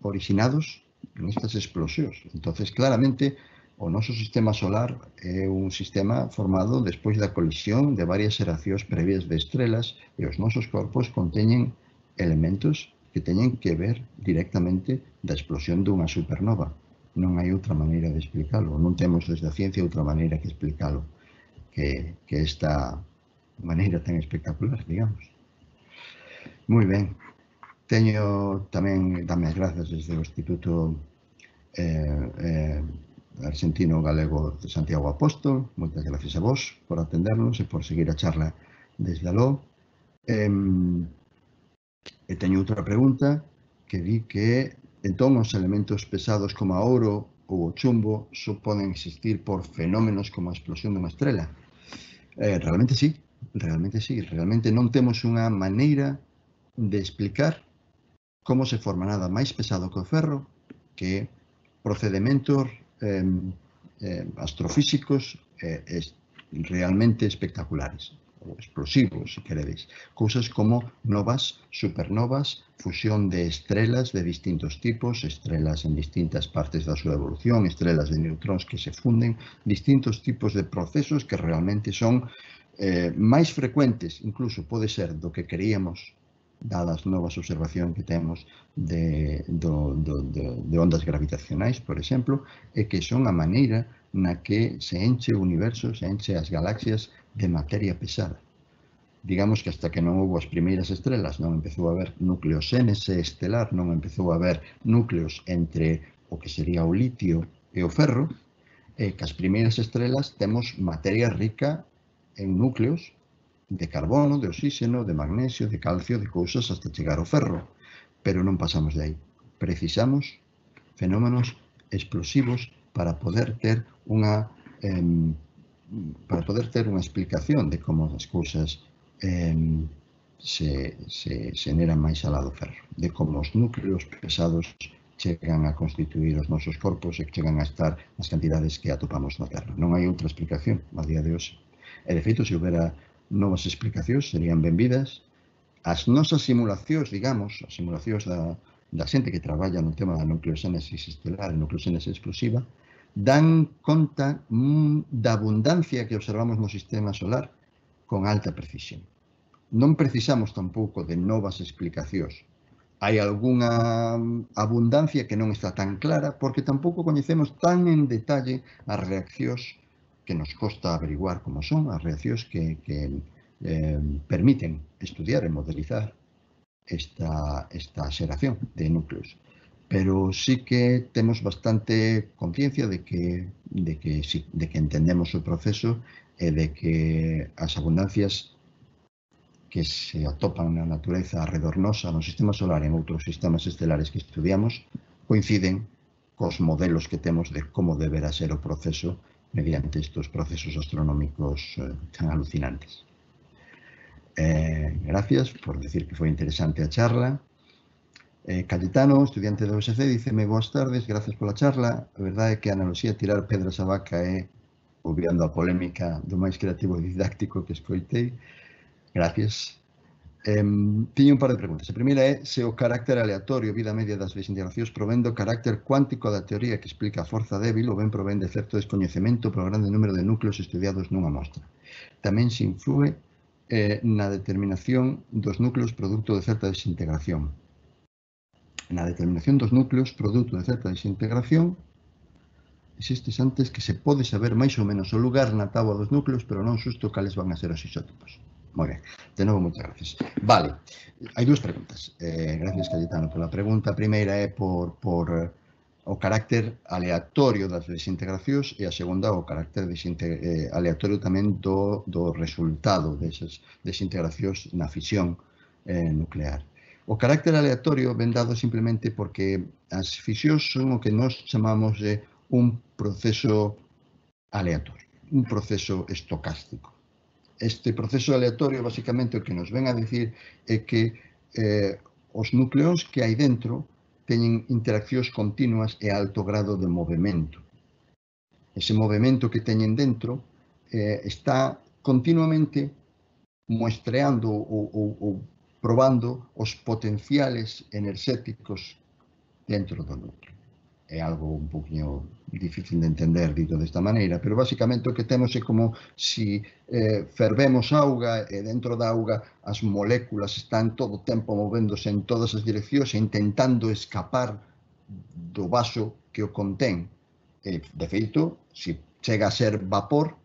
originados nestas explosións. Entonces, claramente, o noso sistema solar é un sistema formado despois da colisión de varias xeracións previas de estrelas, e os nosos corpos conteñen elementos que teñen que ver directamente da explosión dunha supernova. Non hai outra maneira de explicalo. Non temos desde a ciencia outra maneira que explicalo que, que esta maneira tan espectacular, digamos. Moi ben. Teño tamén, dame as grazas desde o Instituto eh, eh, Argentino Galego de Santiago Apóstol. Moitas gracias a vos por atendernos e por seguir a charla desde aló. Eh, e teño outra pregunta que di que entón os elementos pesados como a ouro ou o chumbo só poden existir por fenómenos como a explosión dunha estrela. Eh, realmente sí, realmente sí. Realmente non temos unha maneira de explicar como se forma nada máis pesado que o ferro, que procedementos eh, eh, astrofísicos eh, es, realmente espectaculares, ou explosivos, se queredes. Cousas como novas, supernovas, fusión de estrelas de distintos tipos, estrelas en distintas partes da súa evolución, estrelas de neutróns que se funden, distintos tipos de procesos que realmente son eh, máis frecuentes, incluso pode ser do que queríamos, dadas novas observacións que temos de, do, do, de, de ondas gravitacionais, por exemplo, e que son a maneira na que se enche o universo, se enche as galaxias de materia pesada. Digamos que hasta que non houve as primeiras estrelas, non empezou a haber nucleoxénese estelar, non empezou a haber núcleos entre o que sería o litio e o ferro, e que as primeiras estrelas temos materia rica en núcleos de carbono, de oxígeno, de magnesio, de calcio, de cousas hasta chegar ao ferro. Pero non pasamos de aí. Precisamos fenómenos explosivos para poder ter unha eh, para poder ter unha explicación de como as cousas eh, se, se xeneran máis alá do ferro, de como os núcleos pesados chegan a constituir os nosos corpos e chegan a estar nas cantidades que atopamos na Terra. Non hai outra explicación a día de hoxe. E, de feito, se houbera novas explicacións, serían benvidas. As nosas simulacións, digamos, as simulacións da, da xente que traballa no tema da nucleoxénese estelar e nucleoxénese explosiva, dan conta mm, da abundancia que observamos no sistema solar con alta precisión. Non precisamos tampouco de novas explicacións. Hai algunha abundancia que non está tan clara porque tampouco coñecemos tan en detalle as reaccións que nos costa averiguar como son, as reaccións que, que eh, permiten estudiar e modelizar esta, esta xeración de núcleos. Pero sí que temos bastante conciencia de que, de, que, sí, de que entendemos o proceso e de que as abundancias que se atopan na natureza arredor nosa, no sistema solar e en outros sistemas estelares que estudiamos, coinciden cos modelos que temos de como deberá ser o proceso mediante estos procesos astronómicos eh, tan alucinantes. Eh, gracias por decir que foi interesante a charla. Eh, Cayetano, estudiante do U S C, díceme boas tardes, gracias pola charla. A verdade é que a analoxía de tirar pedras a vaca é obviando a polémica do máis creativo e didáctico que escoitei. Gracias. Eh, tiño un par de preguntas. A primeira é se o carácter aleatorio, vida media das desintegracións, provén do carácter cuántico da teoría que explica a forza débil ou ben provén de certo descoñecemento polo grande número de núcleos estudiados nunha mostra. Tamén se influe eh, na determinación dos núcleos produto de certa desintegración. Na determinación dos núcleos produto de certa desintegración existes antes que se pode saber máis ou menos o lugar na táboa dos núcleos, pero non xusto cales van a ser os isótopos. Moi ben, de novo, moitas gracias. Vale, hai dúas preguntas. Eh, gracias, Cayetano, pola pregunta. A primeira é por, por eh, o carácter aleatorio das desintegracións e a segunda o carácter eh, aleatorio tamén do, do resultado desas desintegracións na fisión eh, nuclear. O carácter aleatorio ven dado simplemente porque as fisións son o que nós chamamos de un proceso aleatorio, un proceso estocástico. Este proceso aleatorio, basicamente, o que nos ven a dicir é que eh, os núcleos que hai dentro teñen interaccións continuas e alto grado de movimento. Ese movimento que teñen dentro eh, está continuamente muestreando ou, ou, ou probando os potenciales enerxéticos dentro do núcleo. É algo un poquinho difícil de entender dito desta maneira, pero basicamente o que temos é como se eh, fervemos auga e dentro da auga as moléculas están todo o tempo movéndose en todas as direccións e intentando escapar do vaso que o contén. E, de feito, se chega a ser vapor,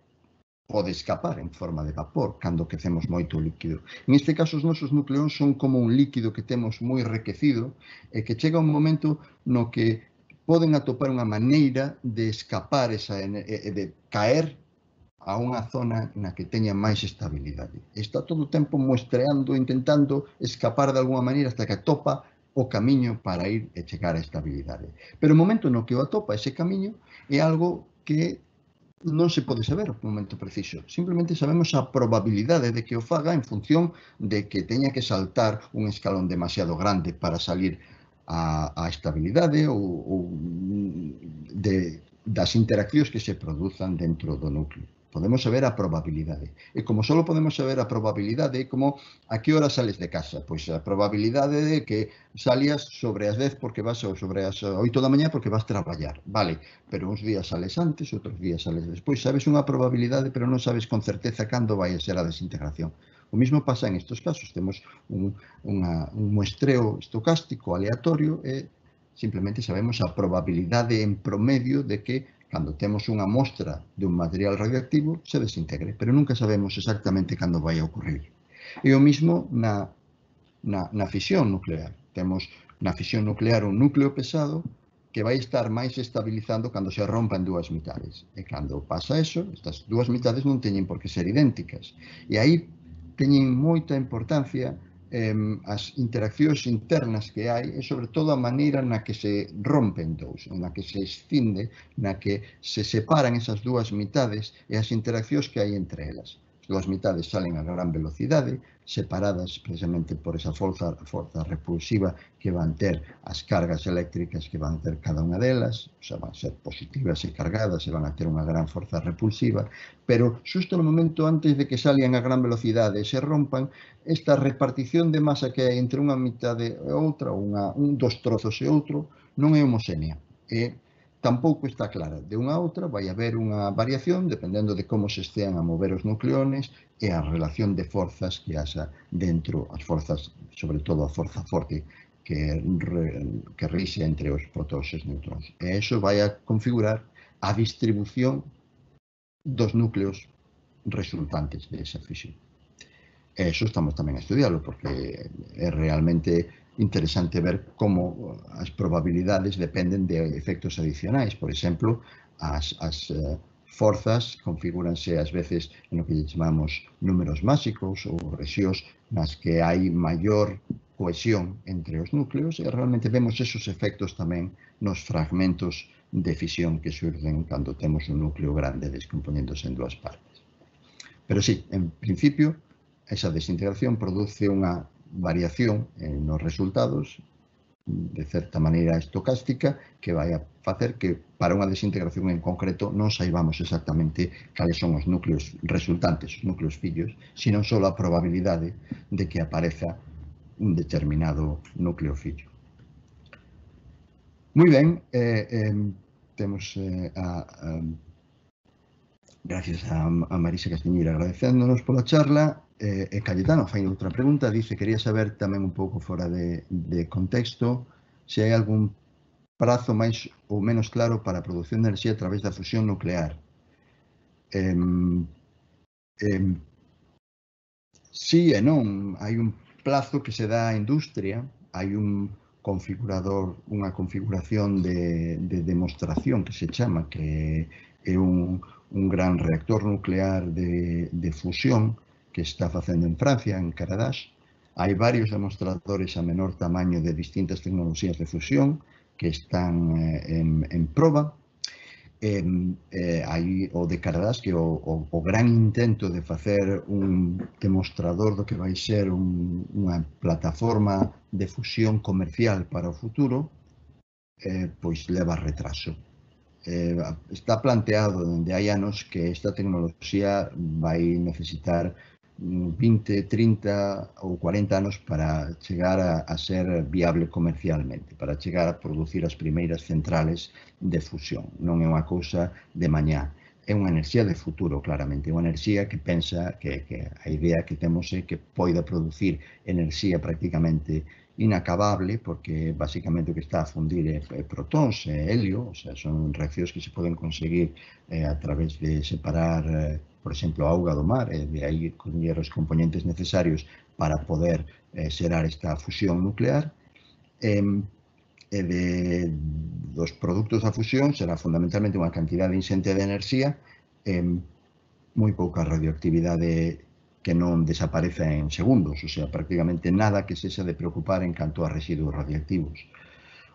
pode escapar en forma de vapor cando quecemos moito o líquido. En este caso, os nosos nucleóns son como un líquido que temos moi requecido e que chega un momento no que poden atopar unha maneira de escapar esa, e de caer a unha zona na que teña máis estabilidade. Está todo o tempo muestreando, intentando escapar de alguma maneira hasta que atopa o camiño para ir e chegar á estabilidade. Pero o momento no que o atopa ese camiño é algo que non se pode saber o momento preciso. Simplemente sabemos a probabilidade de que o faga en función de que teña que saltar un escalón demasiado grande para salir a, a estabilidade ou, ou de, das interaccións que se produzan dentro do núcleo. Podemos saber a probabilidade. E como só podemos saber a probabilidade, como a que hora sales de casa? Pois a probabilidade de que salías sobre as dez porque vas, ou sobre as oito da mañá porque vas traballar. Vale, pero uns días sales antes, outros días sales despois. Sabes unha probabilidade, pero non sabes con certeza cando vai a ser a desintegración. O mesmo pasa en estes casos. Temos un, unha, un muestreo estocástico aleatorio e simplemente sabemos a probabilidade en promedio de que cando temos unha mostra de un material radioactivo se desintegre, pero nunca sabemos exactamente cando vai a ocurrir. E o mesmo na, na, na fisión nuclear. Temos na fisión nuclear un núcleo pesado que vai estar máis estabilizando cando se rompa en dúas mitades. E cando pasa eso, estas dúas mitades non teñen por que ser idénticas. E aí teñen moita importancia eh, as interaccións internas que hai e, sobre todo, a maneira na que se rompen dous, na que se escinde, na que se separan esas dúas mitades e as interaccións que hai entre elas. As dúas mitades salen a gran velocidade, separadas precisamente por esa forza, forza repulsiva que van ter as cargas eléctricas que van ter cada unha delas, o sea, van ser positivas e cargadas e van a ter unha gran forza repulsiva, pero xusto no momento antes de que salían a gran velocidade e se rompan, esta repartición de masa que hai entre unha mitade e outra, unha, un dos trozos e outro, non é homoxénea. E tampouco está clara. De unha a outra vai haber unha variación dependendo de como se estean a mover os nucleones e a relación de forzas que haxa dentro, as forzas, sobre todo a forza forte que, que rixe entre os protóns e os neutróns. E iso vai a configurar a distribución dos núcleos resultantes desa fisión. E iso estamos tamén a estudiarlo, porque é realmente interesante ver como as probabilidades dependen de efectos adicionais. Por exemplo, as, as uh, forzas configúranse ás veces en o que chamamos números máxicos ou rexións nas que hai maior cohesión entre os núcleos e realmente vemos esos efectos tamén nos fragmentos de fisión que surden cando temos un núcleo grande descompoñéndose en dúas partes. Pero sí, en principio, esa desintegración produce unha variación nos resultados de certa maneira estocástica que vai a facer que para unha desintegración en concreto non saibamos exactamente cales son os núcleos resultantes, os núcleos fillos, sino só a probabilidade de que apareza un determinado núcleo fillo. Moi ben, eh, eh, temos eh, a, a gracias a, a Marisa Castiñeira agradecéndonos pola charla. Eh, e Cayetano fai outra pregunta, dice, quería saber tamén un pouco fora de, de contexto se hai algún prazo máis ou menos claro para a produción de enerxía a través da fusión nuclear. Eh, eh, sí e non, hai un plazo que se dá á industria, hai un configurador, unha configuración de, de demostración que se chama, que é un, un gran reactor nuclear de, de fusión que está facendo en Francia, en Caradash. Hai varios demostradores a menor tamaño de distintas tecnoloxías de fusión que están eh, en, en proba. Eh, eh, hai o de Caradash, que é o, o, o gran intento de facer un demostrador do que vai ser un, unha plataforma de fusión comercial para o futuro, eh, pois leva retraso. Eh, está planteado dende hai anos que esta tecnoloxía vai necesitar vinte, trinta ou cuarenta anos para chegar a, a ser viable comercialmente, para chegar a producir as primeiras centrales de fusión. Non é unha cousa de mañá, é unha enerxía de futuro, claramente, unha enerxía que pensa que, que a idea que temos é que poida producir enerxía prácticamente inacabable, porque basicamente o que está a fundir é, é protóns e helio, o sea, son reaccións que se poden conseguir eh, a través de separar, eh, por exemplo, a auga do mar, e de aí coller os componentes necesarios para poder eh, xerar esta fusión nuclear. E, e de, dos produtos da fusión será fundamentalmente unha cantidade inxente de enerxía e moi pouca radioactividade que non desapareza en segundos, o sea, prácticamente nada que sexa de preocupar en canto a residuos radioactivos.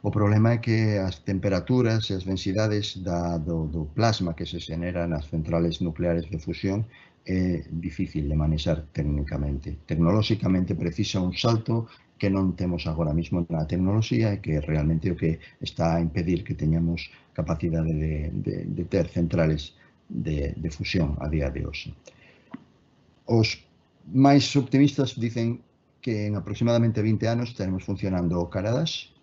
O problema é que as temperaturas e as densidades da, do, do plasma que se xenera nas centrales nucleares de fusión é difícil de manexar técnicamente. Tecnolóxicamente precisa un salto que non temos agora mesmo na tecnoloxía e que realmente o que está a impedir que teñamos capacidade de, de, de ter centrales de, de fusión a día de hoxe. Os máis optimistas dicen que en aproximadamente vinte anos teremos funcionando o Caradash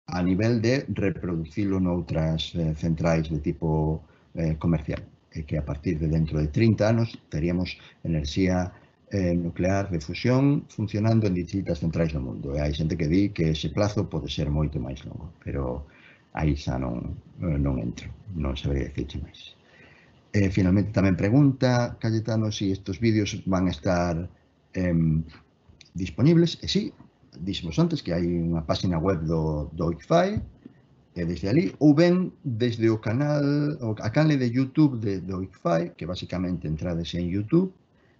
a nivel de reproducilo noutras eh, centrais de tipo eh, comercial, e que a partir de dentro de trinta anos teríamos enerxía eh, nuclear de fusión funcionando en distintas centrais do mundo. E hai xente que di que ese plazo pode ser moito máis longo, pero aí xa non, non entro, non sabería dicirche máis. Eh, finalmente tamén pregunta Cayetano se si estes vídeos van a estar eh, disponibles, e sí, dixemos antes que hai unha página web do, do I C F A I, e desde ali, ou ben desde o canal, a canle de YouTube de, do I C F A I, que basicamente entrades en YouTube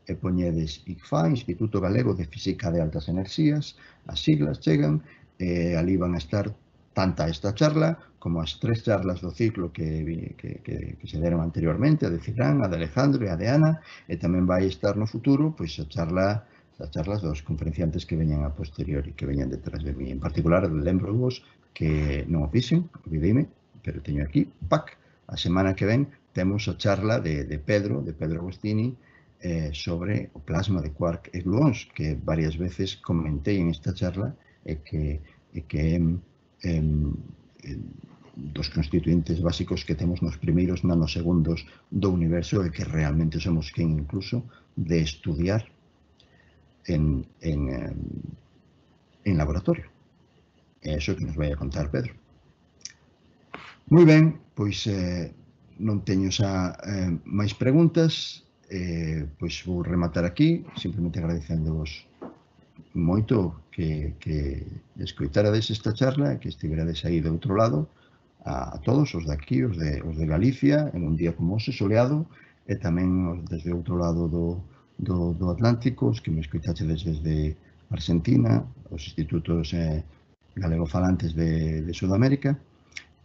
e poñedes I C F A I, Instituto Galego de Física de Altas Enerxías, as siglas chegan, e ali van a estar tanta esta charla como as tres charlas do ciclo que, que, que, que se deron anteriormente, a de Cifrán, a de Alejandro e a de Ana, e tamén vai estar no futuro pois a charla as charlas dos conferenciantes que veñan a posteriori, que veñan detrás de mí. En particular, lembro-vos que non o fixen, olvideime, pero teño aquí, pac, a semana que ven temos a charla de, de Pedro, de Pedro Agostini, eh, sobre o plasma de quark e gluóns, que varias veces comentei en esta charla, e que, e que eh, eh, dos constituintes básicos que temos nos primeiros nanosegundos do universo e que realmente somos quen incluso de estudiar En, en, en laboratorio. É iso que nos vai a contar Pedro. Moi ben, pois eh, non teño xa eh, máis preguntas, eh, pois vou rematar aquí, simplemente agradecéndoos moito que, que escoitarades esta charla, que estiverades aí do outro lado, a, a todos, os de aquí, os de, os de Galicia, en un día como hoxe soleado, e tamén os desde o outro lado do Do, do Atlántico, os que me escoitaxedes desde Argentina, os institutos eh, galegofalantes de, de Sudamérica.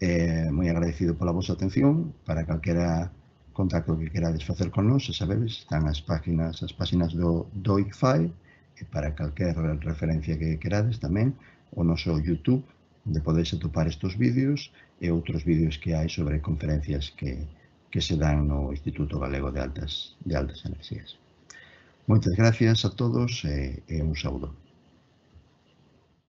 Eh, moi agradecido pola vosa atención. Para calquera contacto que querades facer con nós, xa sabedes, están as páginas, as páginas do, do I C F A I, e para calquer referencia que querades tamén, o noso YouTube, onde podedes atopar estes vídeos e outros vídeos que hai sobre conferencias que, que se dan no Instituto Galego de Altas, de Altas Enerxías. Moitas gracias a todos e, e un saúdo.